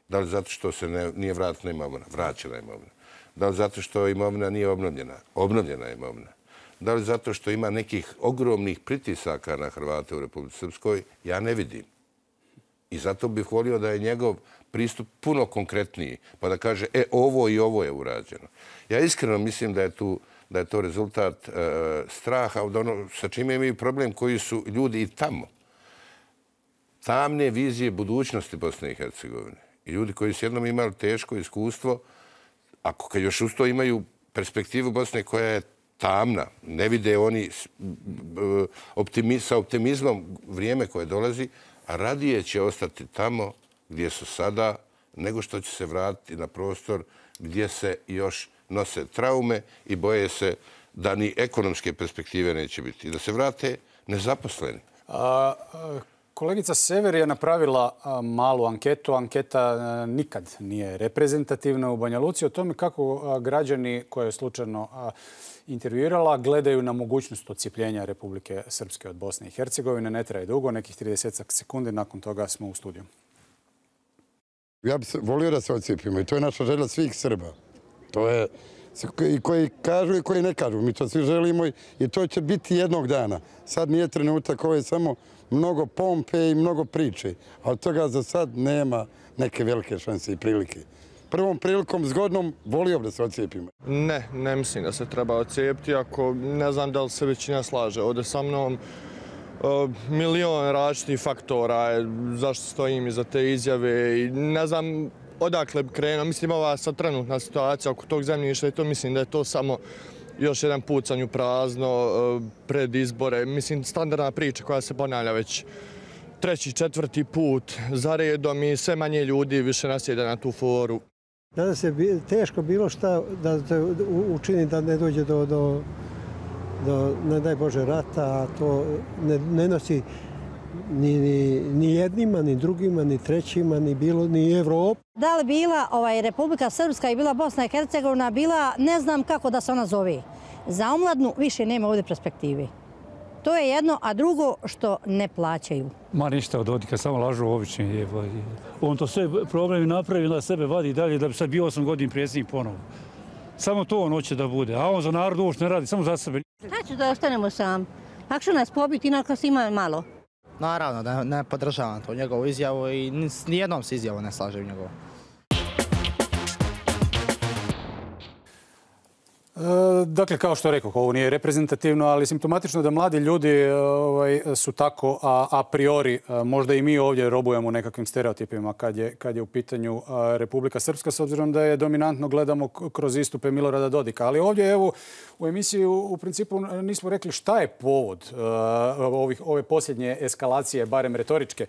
Da li zato što se nije vratila imovina? Vraćena imovina. Da li zato što imovina nije obnovljena? Obnovljena je imovina. Da li zato što ima nekih ogromnih pritisaka na Hrvate u Republici Srpskoj? Ja ne vidim. I zato bih volio da je njegov pristup puno konkretniji, pa da kaže, ovo i ovo je urađeno. Ja iskreno mislim da je to rezultat straha od ono sa čime imaju problem koji su ljudi i tamo. Tamne vizije budućnosti Bosne i Hercegovine. I ljudi koji su jednom imali teško iskustvo, ako još uz to imaju perspektivu Bosne koja je tamna, ne vide oni sa optimizmom vrijeme koje dolazi, a radije će ostati tamo gdje su sada, nego što će se vratiti na prostor gdje se još nose traume i boje se da ni ekonomske perspektive neće biti. I da se vrate nezaposleni. Kolegica Sever je napravila malu anketu. Anketa nikad nije reprezentativna u Banja Luci o tome kako građani koje je slučajno intervjuirala gledaju na mogućnost odcijepljenja Republike Srpske od Bosne i Hercegovine. Ne traje dugo, nekih 30 sekundi. Nakon toga smo u studiju. Ja bih volio da se odcijepimo i to je naša želja svih Srba. To je i koji kažu i koji ne kažu. Mi to svi želimo i to će biti jednog dana. Sad nije trenutak, ovo je samo mnogo pompe i mnogo priče. Ali toga za sad nema neke velike šanse i prilike. Prvom prilikom zgodnom volio da se odcijepimo. Ne mislim da se treba odcijepiti. Ako ne znam da li se većina slaže ovdje sa mnom, milion različitih faktora zašto stojim iza te izjave i ne znam odakle bi krenuo. Mislim, ova sad trenutna situacija oko tog zemljišta i to mislim da je to samo još jedan pucanj u prazno pred izbore. Mislim, standardna priča koja se ponavlja već 3., 4. put za redom i sve manje ljudi više nasjeda na tu foru. Danas je teško bilo šta da te učini da ne dođe do ne daj Bože, rata, a to ne nosi ni jednima, ni drugima, ni trećima, ni Evropa. Da li bila Republika Srpska i bila Bosna i Hercegovina, bila ne znam kako da se ona zove. Za omladnu više nema ovdje perspektive. To je jedno, a drugo što ne plaćaju. Ma ništa od Dodika, samo lažu obični. On to sve problemi napravi, da sebe vadi dalje, da bi sad bio 8 godina predsjednik ponovo. Samo to on hoće da bude, a on za narod uopšte ne radi, samo za sebe. Znači da ostanemo sam. Lakše nas pobiti, inako nas ima malo. Naravno da ne podržavam to njegovu izjavu i nijednom se izjavu ne slažem njegovu. Dakle, kao što rekao, ovo nije reprezentativno, ali simptomatično da mladi ljudi su tako a priori, možda i mi ovdje robujemo nekakvim stereotipima kad je u pitanju Republika Srpska, s obzirom da je dominantno gledamo kroz istupe Milorada Dodika. Ali ovdje, evo, u emisiji u principu nismo rekli šta je povod ove posljednje eskalacije, barem retoričke,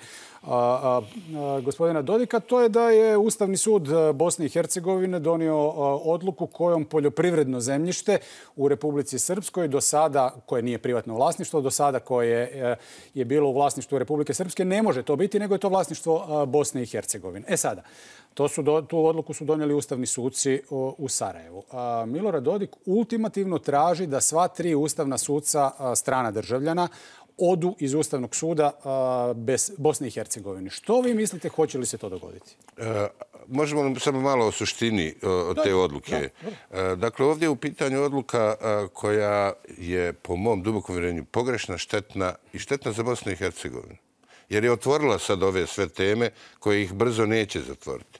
gospodina Dodika. To je da je Ustavni sud Bosne i Hercegovine donio odluku kojom poljoprivredno zemljište u Republici Srpskoj do sada, koje nije privatno vlasništvo, do sada koje je bilo u vlasništvu Republike Srpske, ne može to biti, nego je to vlasništvo Bosne i Hercegovine. Tu odluku su donijeli ustavni suci u Sarajevu. Milorad Dodik ultimativno traži da sva 3 ustavna suca strana državljana odu iz Ustavnog suda bez Bosne i Hercegovine. Što vi mislite, hoće li se to dogoditi? Možemo samo malo o suštini te odluke. Dakle, ovdje je u pitanju odluka koja je, po mom dubokom uvjerenju, pogrešna, štetna i štetna za Bosnu i Hercegovinu. jer je otvorila sad ove sve teme koje ih brzo neće zatvoriti.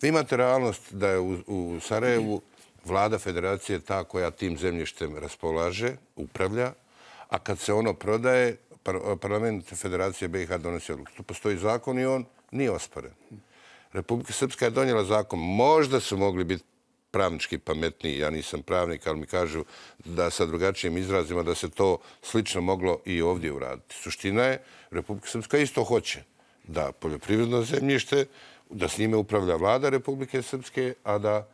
Vi imate realnost da je u Sarajevu vlada federacije ta koja tim zemljištem raspolaže, upravlja, a kad se ono prodaje, parlament Federacije BiH donosi odluku. Tu postoji zakon i on nije osporen. Republika Srpska je donijela zakon. Možda su mogli biti pravnički pametniji, ja nisam pravnik, ali mi kažu da sa drugačijim izrazima da se to slično moglo i ovdje uraditi. Suština je, Republika Srpska isto hoće da poljoprivredno zemljište, da s njime upravlja vlada Republike Srpske, a da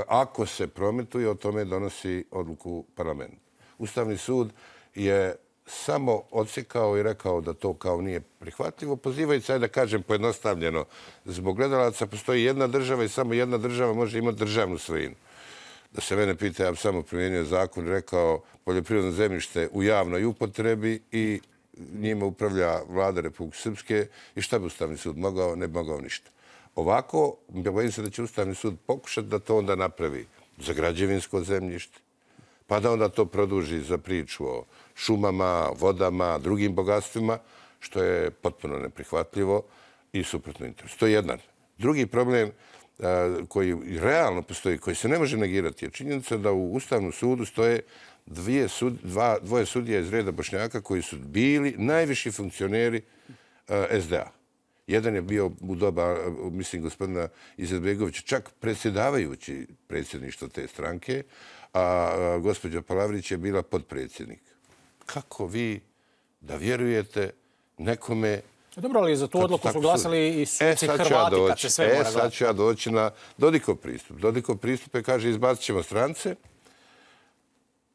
ako se prometuje, o tome donosi odluku parlament. Ustavni sud je samo odsjekao i rekao da to kao nije prihvatljivo, pozivajući se, da kažem pojednostavljeno, zbog gledalaca postoji jedna država i samo jedna država može imati državnu svojinu. Da se mene pita, ja bi samo primijenio zakon i rekao poljoprivredno zemljište u javnoj upotrebi i njime upravlja vlada Republike Srpske i šta bi Ustavni sud mogao? Ne bi mogao ništa. Ovako, bojim se da će Ustavni sud pokušati da to onda napravi za građevinsko zemljište, pa da onda to produži za priču o šumama, vodama, drugim bogatstvima, što je potpuno neprihvatljivo i suprotno interesu. To je jedan. Drugi problem koji realno postoji, koji se ne može negirati, je činjenica da u Ustavnom sudu stoje dvoje sudija iz reda Bošnjaka koji su bili najviši funkcioneri SDA. Jedan je bio u doba, mislim, gospodina Izetbegovića, čak predsjedavajući predsjedništvo te stranke, a gospođa Palavrić je bila potpredsjednik. Kako vi da vjerujete nekome... Dobro, ali za tu odluku su glasali i suci Hrvati kad se sve mora gledati. Sad ću ja doći na Dodikov pristup. Dodikov pristup je, kaže, izbacit ćemo strance,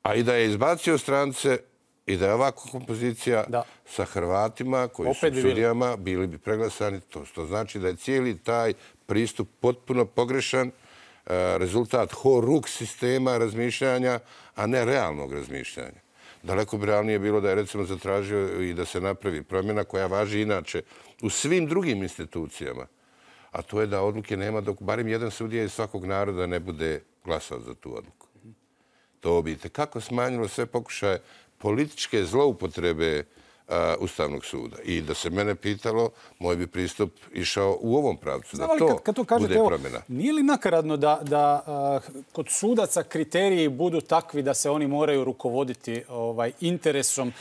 a i da je izbacio strance i da je ovako kompozicija sa Hrvatima koji su sudijama bili bi preglasani. To znači da je cijeli taj pristup potpuno pogrešan, rezultat horuk sistema razmišljanja, a ne realnog razmišljanja. Daleko bi realnije bilo da je recimo zatražio i da se napravi promjena koja važi inače u svim drugim institucijama, a to je da odluke nema dok barem jedan sudija iz svakog naroda ne bude glasao za tu odluku. To bi kako smanjilo sve pokušaje političke zloupotrebe Ustavnog suda. I da se mene pitalo, moj bi pristup išao u ovom pravcu. Da to bude promjena. Nije li nakaradno da kod sudaca kriteriji budu takvi da se oni moraju rukovoditi interesom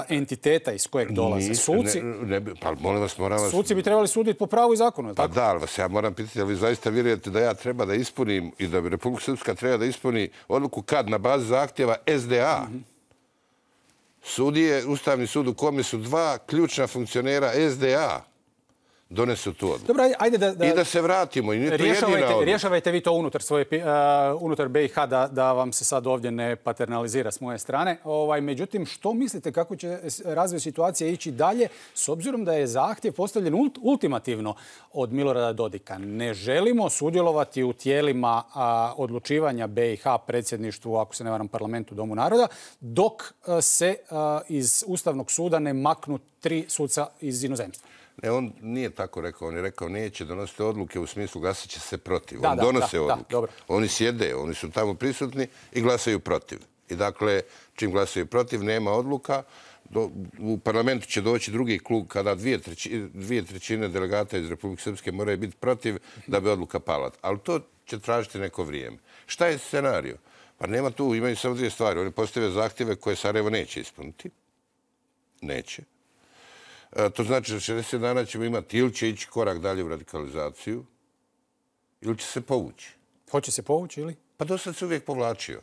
entiteta iz kojeg dolaze? Suci bi trebali suditi po pravu i zakonu. Pa da, ali vas ja moram pitati, ali vi zaista vjerujete da ja treba da ispunim i da bi Republika Srpska treba da ispuni odluku kad na bazi zahtjeva SDA. Sudije, Ustavni sud u kome su dva ključna funkcionera SDA donesu tu odluku. Dobro, ajde i da se vratimo. Rješavajte vi to unutar BiH da vam se sad ovdje ne paternalizira s moje strane. Međutim, što mislite kako će razvoj situacije ići dalje s obzirom da je zahtjev postavljen ultimativno od Milorada Dodika? Ne želimo sudjelovati u tijelima odlučivanja BiH, predsjedništvu, ako se ne varam, parlamentu, Domu naroda, dok se iz Ustavnog suda ne maknu 3 suca iz inozemstva. Ne, on nije tako rekao. On je rekao neće donositi odluke u smislu glasat će se protiv. On donose odluke. Oni sjede, oni su tamo prisutni i glasaju protiv. I dakle, čim glasaju protiv, nema odluka. U parlamentu će doći drugi klub kada 2/3 delegata iz Republike Srpske moraju biti protiv da bi odluka pala. Ali to će tražiti neko vrijeme. Šta je scenario? Pa nema tu, imaju samo dvije stvari. Oni postave zahtjeve koje Sarajevo neće ispuniti. Neće. To znači da 60 dana ćemo imati ili će ići korak dalje u radikalizaciju ili će se povući. Hoće se povući ili? Pa do sad se uvijek povlačio.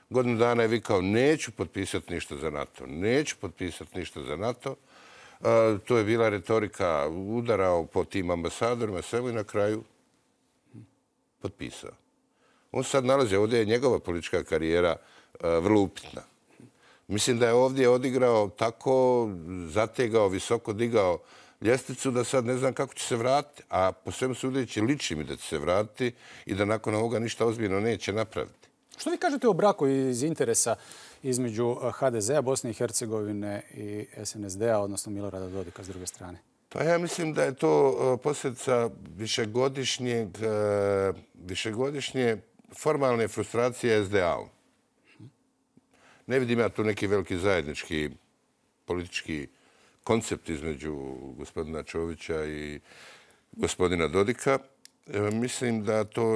Godinu dana je vikao neću potpisati ništa za NATO. Neću potpisati ništa za NATO. To je bila retorika, udarao po tim ambasadorima, sve i na kraju potpisao. On sad nalazi, ovdje je njegova politička karijera vrlo upitna. Mislim da je ovdje odigrao tako, zategao, visoko digao ljestvicu da sad ne znam kako će se vratiti. A po svemu sudeći liči mi da će se vratiti i da nakon ovoga ništa ozbiljno neće napraviti. Što vi kažete o braku iz interesa između HDZ-a, Bosne i Hercegovine i SNSD-a, odnosno Milorada Dodika s druge strane? Pa ja mislim da je to posljedica višegodišnje formalne frustracije SDA-u. Ne vidim ja tu neki veliki zajednički politički koncept između gospodina Čovića i gospodina Dodika. Mislim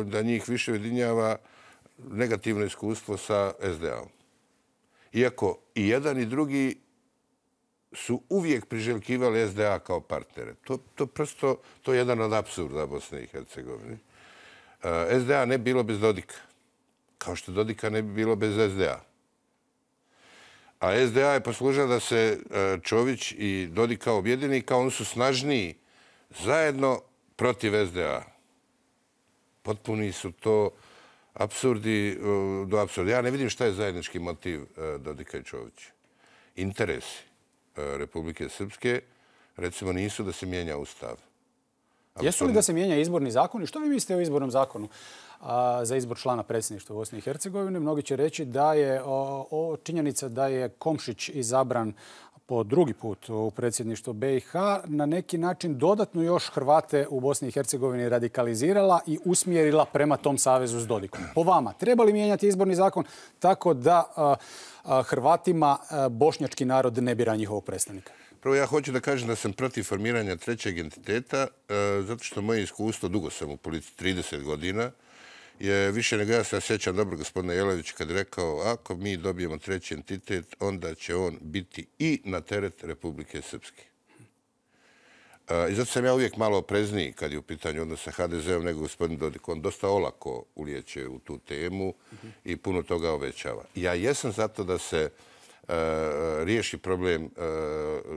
da njih više ujedinjava negativno iskustvo sa SDA-om. Iako i jedan i drugi su uvijek priželjkivali SDA kao partnere. To je jedan od apsurda Bosne i Hercegovine. SDA ne bi bilo bez Dodika. Kao što Dodika ne bi bilo bez SDA. A SDA je poslužila da se Čović i Dodika objedini kao oni su snažniji zajedno protiv SDA. Potpuni su to apsurdi do apsurda. Ja ne vidim šta je zajednički motiv Dodika i Čovića. Interesi Republike Srpske, recimo, nisu da se mijenja Ustav. Jesu li da se mijenja izborni zakon? I što vi mislite o izbornom zakonu za izbor člana predsjedništva Bosne i Hercegovine? Mnogi će reći da je činjenica da je Komšić izabran po drugi put u predsjedništvo BiH na neki način dodatno još Hrvate u Bosni i Hercegovini radikalizirala i usmjerila prema tom savezu s Dodikom. Po vama, treba li mijenjati izborni zakon tako da Hrvatima bošnjački narod ne bira njihovog predstavnika? Prvo, ja hoću da kažem da sam protiv formiranja trećeg entiteta, zato što moje iskustvo, dugo sam u politici, 30 godina, je više nego ja se sjećam dobro gospodina Jelavića kad je rekao ako mi dobijemo treći entitet, onda će on biti i na teret Republike Srpske. I zato sam ja uvijek malo oprezniji kad je u pitanju odnos sa HDZ-om nego gospodin Dodik. On dosta olako ulijeće u tu temu i puno toga obećava. Ja jesam zato da se riješi problem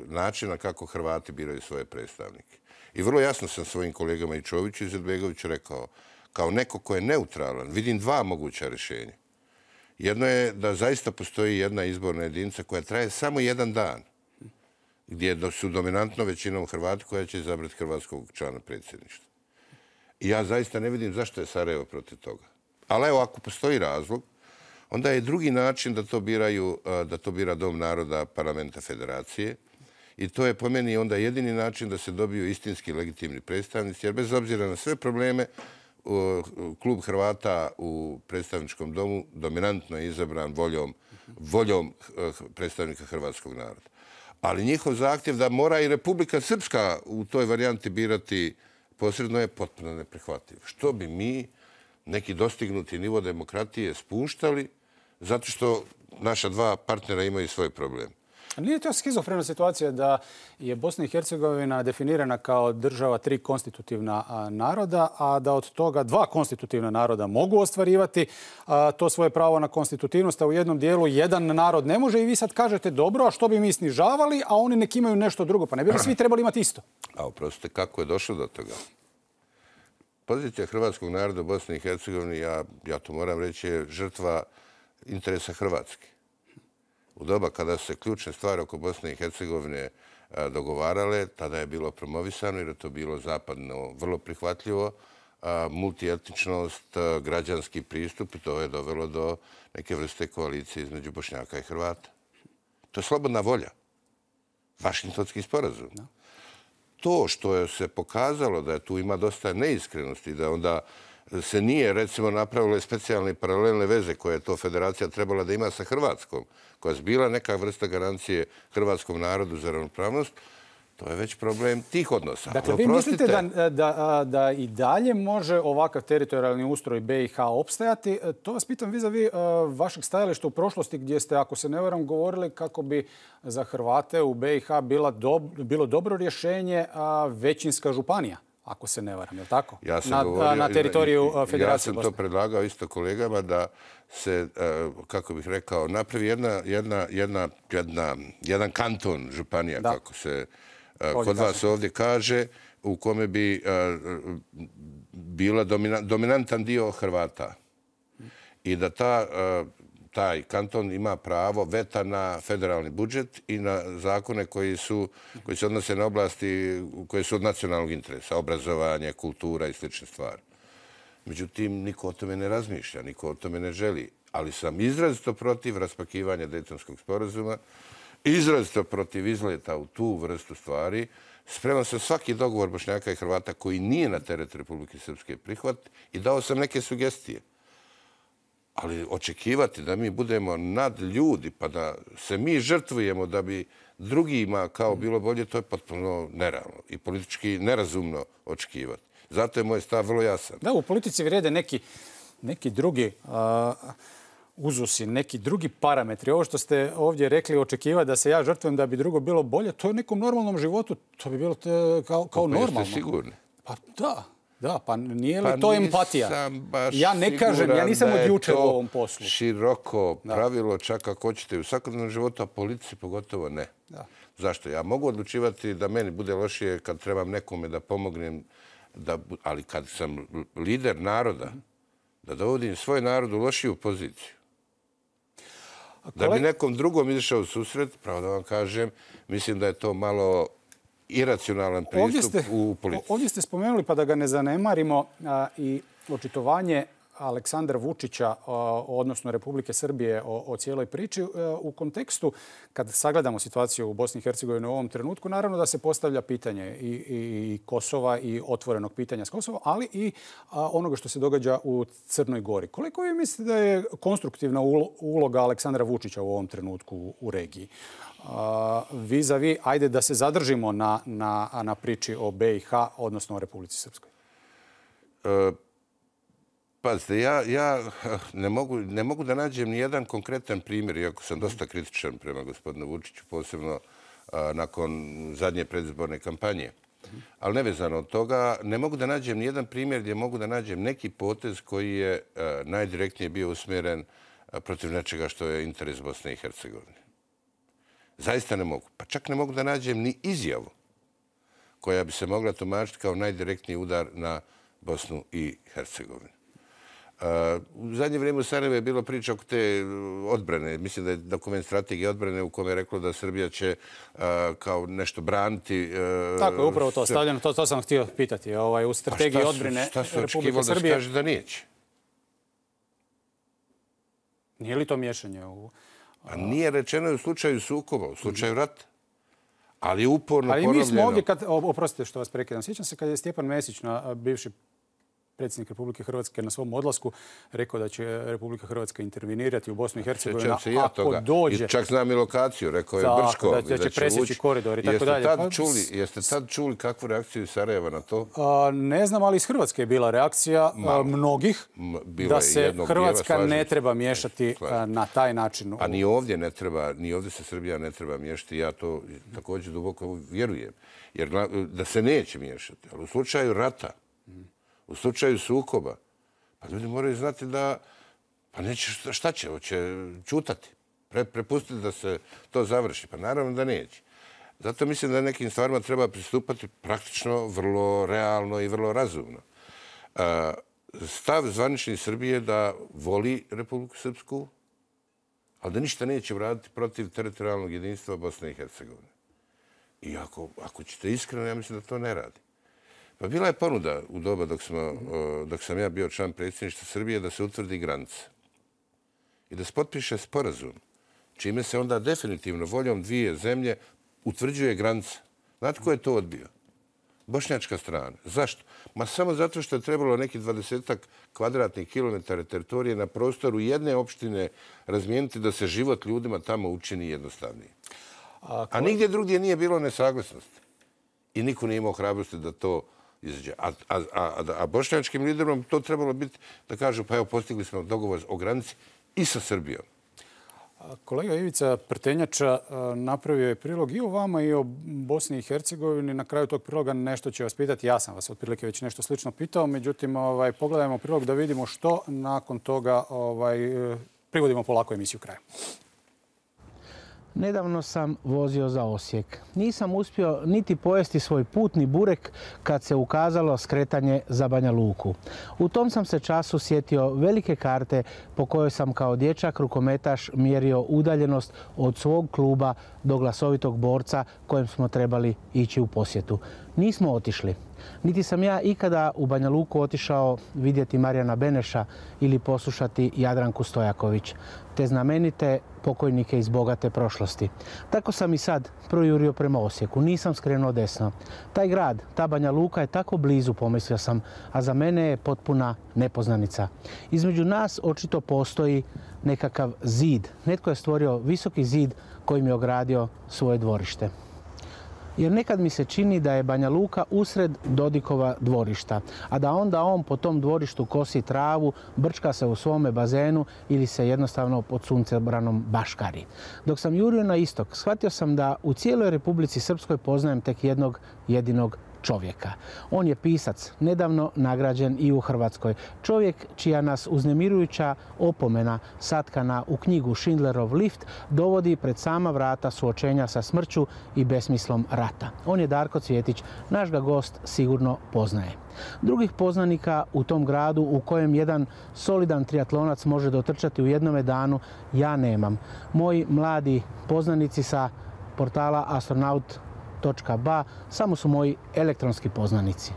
načina kako Hrvati biraju svoje predstavnike. I vrlo jasno sam svojim kolegama i Čoviću i Izetbegoviću rekao, kao neko ko je neutralan, vidim dva moguća rješenja. Jedno je da zaista postoji jedna izborna jedinica koja traje samo jedan dan, gdje su dominantno većinom Hrvati koja će izabrati hrvatskog člana predsjedništva. I ja zaista ne vidim zašto je Sarajevo protiv toga. Ali evo, ako postoji razlog, onda je drugi način da to bira Dom naroda Parlamenta Federacije. I to je po meni onda jedini način da se dobiju istinski legitimni predstavnici, jer bez obzira na sve probleme, klub Hrvata u predstavničkom domu dominantno je izabran voljom predstavnika hrvatskog naroda. Ali njihov zahtjev da mora i Republika Srpska u toj varijanti birati posredno je potpuno neprihvatljiv. Što bi mi neki dostignuti nivo demokratije spuštali zato što naša dva partnera imaju svoj problem. Nije to skizofrena situacija da je Bosna i Hercegovina definirana kao država 3 konstitutivna naroda, a da od toga 2 konstitutivna naroda mogu ostvarivati to svoje pravo na konstitutivnost, a u jednom dijelu jedan narod ne može i vi sad kažete dobro, a što bi mi snižavali, a oni nek imaju nešto drugo. Pa ne bi li svi trebali imati isto? A oprostite, kako je došlo do toga? Pozicija hrvatskog naroda u Bosni i Hercegovini, ja to moram reći, je žrtva interesa Hrvatske. U doba kada se ključne stvari oko Bosne i Hercegovine dogovarale, tada je bilo promovisano jer je to bilo zapadno vrlo prihvatljivo. Multietničnost, građanski pristup i to je dovelo do neke vrste koalicije između Bošnjaka i Hrvata. To je slobodna volja. Vašingtonski sporazum. To što se pokazalo da tu ima dosta neiskrenosti, da onda se nije, recimo, napravile specijalne paralelne veze koje je to federacija trebala da ima sa Hrvatskom, koja je bila neka vrsta garancije hrvatskom narodu za ravnopravnost, to je već problem tih odnosa. Dakle, vi mislite da i dalje može ovakav teritorijalni ustroj BiH opstajati? To vas pitam vis-a-vis vašeg stajališta u prošlosti gdje ste, ako se ne varam, govorili kako bi za Hrvate u BiH bilo dobro rješenje većinska županija. Ako se ne varam, je li tako? Na teritoriju Federacije Bosne. Ja sam to predlagao isto kolegama da se, kako bih rekao, napravi jedan kanton županija, kako se kod vas ovdje kaže, u kome bi bila dominantan dio Hrvata. I da taj kanton ima pravo veta na federalni budžet i na zakone koji se odnose na oblasti koje su od nacionalnog interesa, obrazovanje, kultura i slične stvari. Međutim, niko o tome ne razmišlja, niko o tome ne želi. Ali sam izrazito protiv raspakivanja Dejtonskog sporazuma, izrazito protiv izleta u tu vrstu stvari. Spreman sam svaki dogovor Bošnjaka i Hrvata koji nije na teret Republike Srpske prihvat i dao sam neke sugestije. Ali očekivati da mi budemo nad ljudi pa da se mi žrtvujemo da bi drugima kao bilo bolje, to je potpuno nerealno i politički nerazumno očekivati. Zato je moj stav vrlo jasan. Da, u politici vrijede neki drugi uzusi, neki drugi parametri. Ovo što ste ovdje rekli, očekivati da se ja žrtvujem da bi drugo bilo bolje, to je u nekom normalnom životu, to bi bilo kao normalno. Jeste sigurni? Pa da, pa nije li to empatija? Ja ne kažem, ja nisam od jučer u ovom poslu. Široko pravilo, čak ako hoćete u svakodnevnom životu, a politici pogotovo ne. Zašto? Ja mogu odlučivati da meni bude lošije kad trebam nekome da pomognem, ali kad sam lider naroda, da dovodim svoj narod u lošiju poziciju. Da bi nekom drugom izašao u susret, pravo da vam kažem, mislim da je to malo iracionalan pristup u politici. Ovdje ste spomenuli, pa da ga ne zanemarimo, i očitovanje Aleksandra Vučića, odnosno Republike Srbije, o cijeloj priči. U kontekstu, kad sagledamo situaciju u Bosni i Hercegovini u ovom trenutku, naravno da se postavlja pitanje i Kosova i otvorenog pitanja s Kosova, ali i onoga što se događa u Crnoj Gori. Koliko vi mislite da je konstruktivna uloga Aleksandra Vučića u ovom trenutku u regiji? Vis-a-vis, ajde da se zadržimo na priči o BiH, odnosno o Republici Srpskoj. Pazite, ja ne mogu da nađem ni jedan konkretan primjer, iako sam dosta kritičan prema gospodinu Vučiću, posebno nakon zadnje predizborne kampanje. Ali nevezano od toga, ne mogu da nađem ni jedan primjer gdje mogu da nađem neki potez koji je najdirektnije bio usmjeren protiv nečega što je interes Bosne i Hercegovine. Zaista ne mogu. Pa čak ne mogu da nađem ni izjavu koja bi se mogla tumačiti kao najdirektniji udar na Bosnu i Hercegovinu. U zadnje vrijeme u Sarajevu je bilo priča oko te odbrane. Mislim da je dokument strategije odbrane u kome je reklo da Srbija će kao nešto braniti. Tako je, upravo to stavljeno. To sam htio pitati. U strategiji odbrane Republike Srbije. Da se kaže da neće? Nije li to miješanje u... Pa nije rečeno u slučaju sukoba, u slučaju rata. Ali je uporno ponovljeno. Ali mi smo ovdje, oprostite što vas prekidam, sjećam se kad je Stjepan Mesić, bivši predsjednik Republike Hrvatske, na svom odlasku rekao da će Republika Hrvatska intervenirati u Bosnu i Hercegovinu ako dođe. I čak znam i lokaciju, rekao je Brčko. Da će presjeći koridor i tako dalje. Jeste tad čuli kakvu reakciju iz Sarajeva na to? Ne znam, ali iz Hrvatske je bila reakcija mnogih da se Hrvatska ne treba miješati na taj način. A ni ovdje ne treba, ni ovdje se Srbija ne treba miješati. Ja to također duboko vjerujem. Jer da se neće miješati. Ali u slučaju rata, u slučaju sukoba, pa ljudi moraju znati da, pa neće, šta će, hoće čutati, prepustiti da se to završi. Pa naravno da neće. Zato mislim da nekim stvarima treba pristupati praktično, vrlo realno i vrlo razumno. Stav zvanični Srbije je da voli Republiku Srpsku, ali da ništa neće uraditi protiv teritorijalnog jedinstva Bosne i Hercegovine. I ako ćete iskreno, ja mislim da to ne radi. Pa bila je ponuda u doba dok sam ja bio član predsjedništva Srbije da se utvrdi granica i da se potpiše sporazum, čime se onda definitivno voljom dvije zemlje utvrđuje granica. Znate ko je to odbio? Bošnjačka strana. Zašto? Ma samo zato što je trebalo neki 20 kvadratnih kilometara teritorije na prostoru jedne opštine razmijeniti da se život ljudima tamo učini jednostavniji. A nigdje drugdje nije bilo nesaglasnosti. I niko nije imao hrabrosti da to izađe. A bošnjačkim liderom to trebalo biti da kažu pa evo postigli smo dogovor o granici i sa Srbijom. Kolega Ivica Prtenjača napravio je prilog i o vama i o Bosni i Hercegovini. Na kraju tog priloga nešto će vas pitati. Ja sam vas otprilike već nešto slično pitao. Međutim, pogledajmo prilog da vidimo što nakon toga privodimo polako emisiju kraju. Nedavno sam vozio za Osijek. Nisam uspio niti pojesti svoj putni burek kad se ukazalo skretanje za Banja Luku. U tom sam se času sjetio velike karte po kojoj sam kao dječak rukometaš mjerio udaljenost od svog kluba do glasovitog borca kojem smo trebali ići u posjetu. Nismo otišli. Niti sam ja ikada u Banja Luku otišao vidjeti Marijana Beneša ili poslušati Jadranku Stojaković, te znamenite pokojnike iz bogate prošlosti. Tako sam i sad projurio prema Osijeku, nisam skrenuo desno. Taj grad, ta Banja Luka je tako blizu, pomislio sam, a za mene je potpuna nepoznanica. Između nas očito postoji nekakav zid. Netko je stvorio visoki zid kojim je ogradio svoje dvorište. Jer nekad mi se čini da je Banja Luka usred Dodikova dvorišta, a da onda on po tom dvorištu kosi travu, brčka se u svome bazenu ili se jednostavno pod suncebranom baškari. Dok sam jurio na istok, shvatio sam da u cijeloj Republici Srpskoj poznajem tek jednog jedinog čovjeka. On je pisac, nedavno nagrađen i u Hrvatskoj. Čovjek čija nas uznemirujuća opomena satkana u knjigu Schindlerov lift dovodi pred sama vrata suočenja sa smrću i besmislom rata. On je Darko Cvjetić, naš ga gost sigurno poznaje. Drugih poznanika u tom gradu u kojem jedan solidan triatlonac može dotrčati u jednome danu ja nemam. Moji mladi poznanici sa portala astronaut.ba samo su moji elektronski poznanici.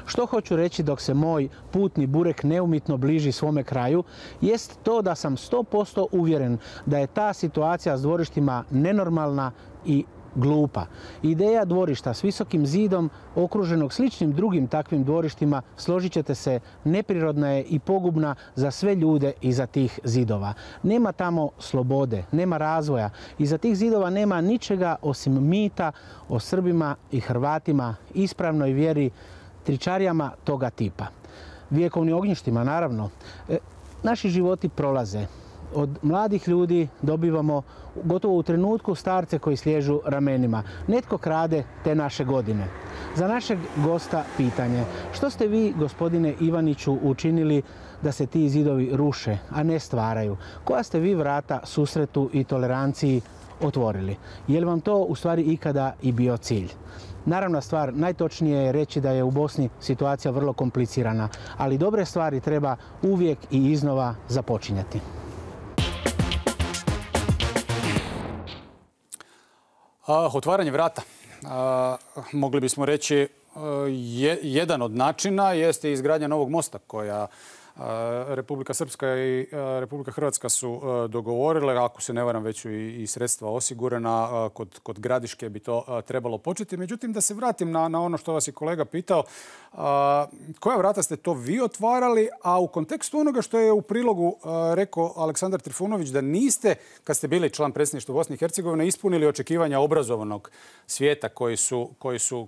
Što hoću reći dok se moj putni burek neumitno bliži svome kraju, jest to da sam 100% uvjeren da je ta situacija s dvorištima nenormalna i glupa. Ideja dvorišta s visokim zidom okruženog sličnim drugim takvim dvorištima, složit ćete se, neprirodna je i pogubna za sve ljude iza tih zidova. Nema tamo slobode, nema razvoja. Iza tih zidova nema ničega osim mita o Srbima i Hrvatima, ispravnoj vjeri, tričarijama toga tipa. Vjekovnim ognjištima, naravno. Naši životi prolaze. Od mladih ljudi dobivamo gotovo u trenutku starce koji sliježu ramenima. Netko krade te naše godine. Za našeg gosta pitanje. Što ste vi, gospodine Ivaniću, učinili da se ti zidovi ruše, a ne stvaraju? Koja ste vi vrata susretu i toleranciji otvorili? Je li vam to u stvari ikada i bio cilj? Naravna stvar, najtočnije je reći da je u Bosni situacija vrlo komplicirana, ali dobre stvari treba uvijek i iznova započinjati. Otvaranje vrata. Mogli bismo reći jedan od načina jeste izgradnja novog mosta koja Republika Srpska i Republika Hrvatska su dogovorile, ako se ne varam već su i sredstva osigurana, kod Gradiške bi to trebalo početi. Međutim, da se vratim na ono što vas je kolega pitao, koja vrata ste to vi otvarali, a u kontekstu onoga što je u prilogu rekao Aleksandar Trifunović, da niste, kad ste bili član predsjedništva Bosne i Hercegovine, ispunili očekivanja obrazovanog svijeta koji su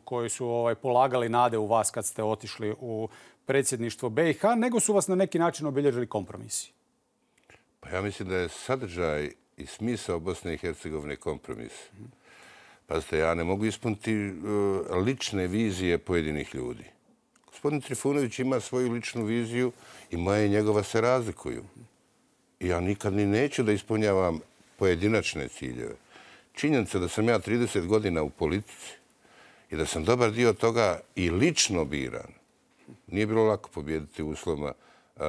polagali nade u vas kad ste otišli u predsjedništvo BiH, nego su vas na neki način obilježili kompromisi? Pa ja mislim da je sadržaj i smisao Bosne i Hercegovine kompromis. Pazite, ja ne mogu ispuniti lične vizije pojedinih ljudi. Gospodin Trifunović ima svoju ličnu viziju i moja i njegova se razlikuju. I ja nikad ni neću da ispunjavam pojedinačne ciljeve. Činjenica da sam ja 30 godina u politici i da sam dobar dio toga i lično biran. Nije bilo lako pobijediti u uslovima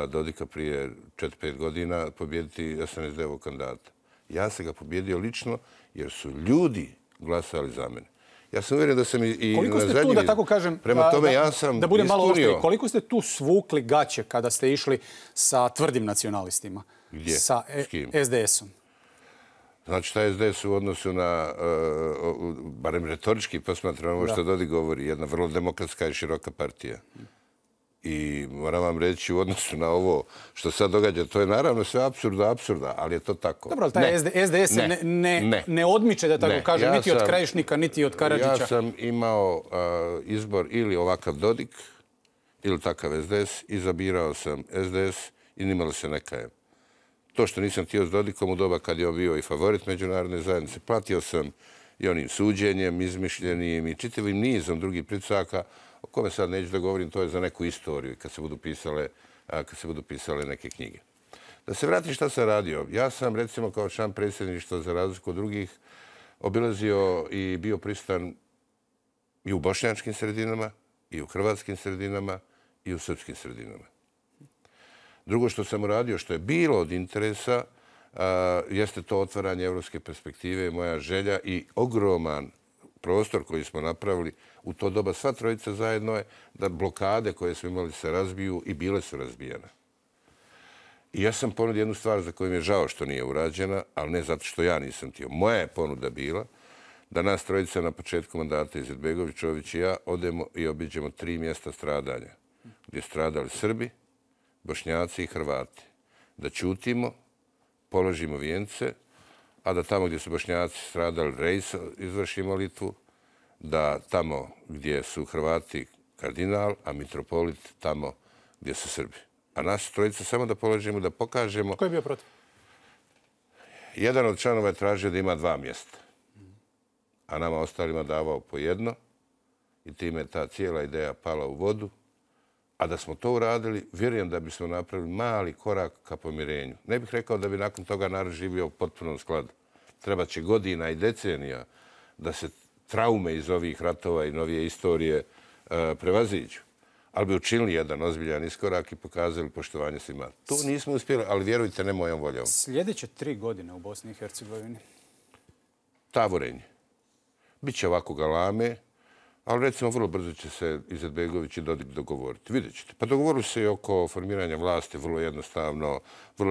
Dodika prije 4-5 godina, pobijediti SNSD-ovog kandidata. Ja sam ga pobjedio lično jer su ljudi glasali za mene. Ja sam uvjeren da sam i koliko na ste zadnjim... tu, da tako kažem, Prema tome ja sam da budem malo ispunio... oštriji, koliko ste tu svukli gaće kada ste išli sa tvrdim nacionalistima? Gdje? Sa S kim? SDS-om. Znači, taj SDS u odnosu na, barem retorički posmatram ovo što Dodik govori, jedna vrlo demokratska i široka partija. I moram vam reći u odnosu na ovo što sad događa, to je naravno sve apsurda, ali je to tako. Dobro, ali taj SDS se ne odmiče, da tako kažem, niti od Krajišnika, niti od Karadžića. Ja sam imao izbor ili ovakav Dodik, ili takav SDS, izabirao sam SDS i nimalo se ne kajem. To što nisam htio s Dodikom u doba kad je on bio i favorit međunarodne zajednice, platio sam i onim suđenjem, izmišljenim i čitavim nizom drugih pritisaka, o kome sad neću da govorim, to je za neku istoriju kad se budu pisale neke knjige. Da se vratim šta sam radio. Ja sam, recimo, kao član predsjedništva, za razliku od drugih, obilazio i bio prisutan i u bošnjačkim sredinama, i u hrvatskim sredinama, i u srpskim sredinama. Drugo što sam uradio, što je bilo od interesa, jeste to otvaranje evropske perspektive, moja želja i ogroman prostor koji smo napravili u to doba sva trojica zajedno je da blokade koje smo imali se razbiju i bile su razbijene. I ja sam ponudio jednu stvar za koju mi je žao što nije urađena, ali ne zato što ja nisam htio. Moja je ponuda bila da nas trojica na početku mandata Izetbegović, Čović i ja odemo i obiđemo 3 mjesta stradanja gdje stradali Srbi, Bošnjaci i Hrvati. Da ćutimo, položimo vijence, a da tamo gdje su Bošnjaci stradali rejs izvrši molitvu, da tamo gdje su Hrvati kardinal, a mitropolit tamo gdje su Srbi. A nas trojica samo da položimo, da pokažemo... Ko je bio protiv? Jedan od članova je tražio da ima 2 mjesta, a nama ostalima davao po 1 i time je ta cijela ideja pala u vodu. A da smo to uradili, vjerujem da bismo napravili mali korak ka pomirenju. Ne bih rekao da bi nakon toga narod živio u potpunom skladu. Treba će godina i decenija da se traume iz ovih ratova i novije istorije prevaziđu. Ali bi učinili jedan ozbiljan iskorak i pokazali poštovanje svima. To nismo uspjeli, ali vjerujte, ne mojom voljom. Sljedeće 3 godine u Bosni i Hercegovini? Tavorenje. Biće ovako galame, ali recimo vrlo brzo će se Izetbegović i Dodik dogovoriti. Vidjet ćete. Pa dogovorili se i oko formiranja vlasti vrlo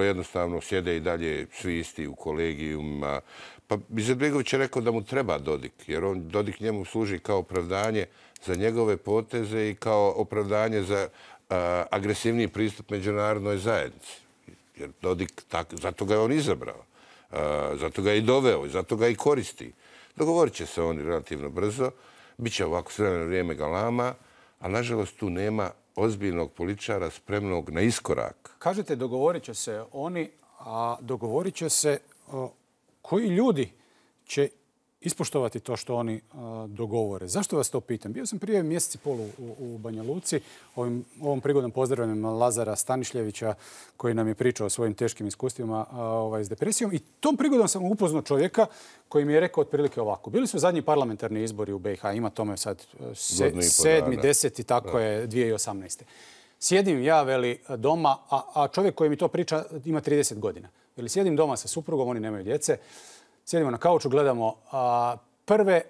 jednostavno sjede i dalje svi isti u kolegijumima. Pa Izetbegović je rekao da mu treba Dodik, jer Dodik njemu služi kao opravdanje za njegove poteze i kao opravdanje za agresivniji pristup međunarodnoj zajednici. Jer Dodik, zato ga je on izabrao, zato ga je i doveo, zato ga i koristi. Dogovorit će se oni relativno brzo. Biće ovako s vremena vrijeme galama, ali nažalost tu nema ozbiljnog političara spremnog na iskorak. Kažete dogovorit će se oni, a dogovorit će se koji ljudi će ispoštovati to što oni dogovore. Zašto vas to pitam? Bio sam prije mjesec i pol u Banja Luci. Ovom prigodom pozdravljam Lazara Stanišljevića koji nam je pričao o svojim teškim iskustvima s depresijom. I tom prigodom sam upoznao čovjeka koji mi je rekao otprilike ovako. Bili su zadnji parlamentarni izbori u BiH. Ima tome sad 7. 10. tako je 2018. Sjedim ja, veli, doma, a čovjek koji mi to priča ima 30 godina. Veli, sjedim doma sa suprugom, oni nemaju djece. Sjedimo na kauču, gledamo prve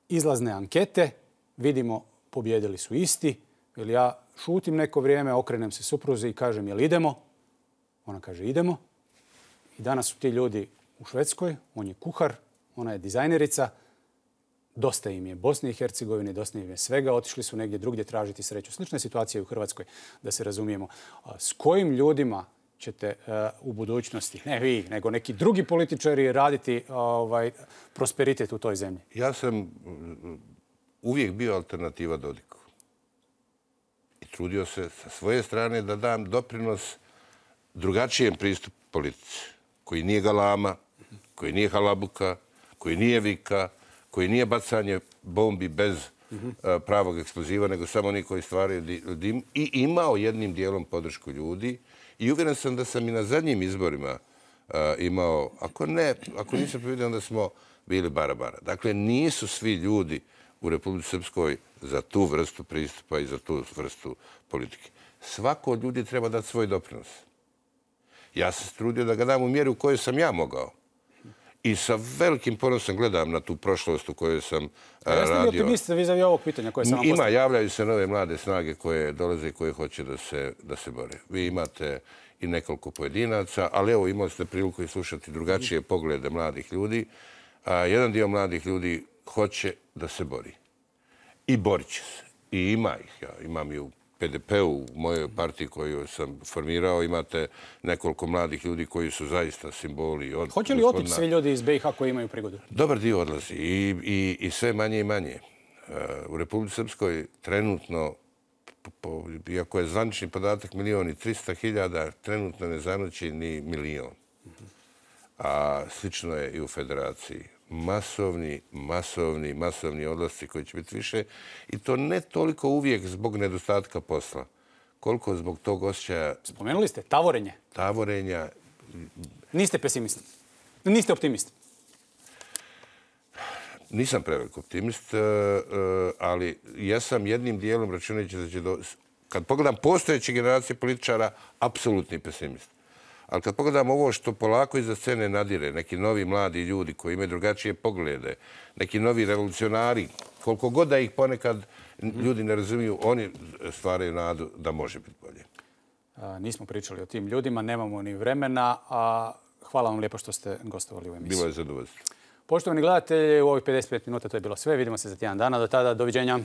izlazne ankete, vidimo pobjedili su isti. Ili ja šutim neko vrijeme, okrenem se supruzi i kažem jel idemo? Ona kaže idemo. I danas su ti ljudi u Švedskoj, on je kuhar, ona je dizajnerica. Dosta im je Bosne i Hercegovine, dosta im je svega. Otišli su negdje drugdje tražiti sreću. Slična situacija je u Hrvatskoj, da se razumijemo. S kojim ljudima ćete u budućnosti, ne vi, nego neki drugi političari raditi prosperitet u toj zemlji? Ja sam uvijek bio alternativa Dodiku. I trudio se sa svoje strane da dam doprinos drugačijem pristupu politici, koji nije galama, koji nije halabuka, koji nije vika, koji nije bacanje bombi bez pravog eksploziva, nego samo oni koji stvaraju dim i imao jednim dijelom podršku ljudi. I uvjeren sam da sam i na zadnjim izborima imao, ako nisam povidio, onda smo bili bara-bara. Dakle, nisu svi ljudi u Republici Srpskoj za tu vrstu pristupa i za tu vrstu politike. Svako od ljudi treba dati svoj doprinos. Ja sam se trudio da ga dam u mjeri u kojoj sam ja mogao. I sa velikim ponosom gledam na tu prošlost u kojoj sam radio. Jeste li optimist vis-a-vis ovog pitanja koje sam vam postavio? Javljaju se nove mlade snage koje dolaze i koje hoće da se bore. Vi imate i nekoliko pojedinaca, ali evo imali ste priliku i slušati drugačije poglede mladih ljudi. Jedan dio mladih ljudi hoće da se bori. I borit će se. I ima ih. Ja imam i u PDP-u, u mojoj partiji koju sam formirao, imate nekoliko mladih ljudi koji su zaista simboli. Hoće li otići svi ljudi iz BiH koji imaju prigodu? Dobar dio odlazi i sve manje i manje. U Republici Srpskoj trenutno, iako je zvanični podatak 1.300.000, trenutno ne zanoći ni 1.000.000. A slično je i u Federaciji. Masovni odlasci koji će biti više. I to ne toliko uvijek zbog nedostatka posla, koliko zbog tog osjećaja... Spomenuli ste tavorenje. Tavorenja. Niste pesimist. Niste optimist. Nisam prevelik optimist, ali ja sam jednim dijelom računajući da će kad pogledam postojeće generacije političara, apsolutni pesimist. Ali kad pogledamo ovo što polako iza scene nadire, neki novi mladi ljudi koji imaju drugačije poglede, neki novi revolucionari, koliko god da ih ponekad ljudi ne razumiju, oni stvaraju nadu da može biti bolje. Nismo pričali o tim ljudima, nemamo ni vremena, a hvala vam lijepo što ste gostovali u emisiji. Bilo je zadovoljstvo. Poštovani gledatelji, u ovih 55 minuta to je bilo sve. Vidimo se za tjedan dana. Do tada, doviđenja.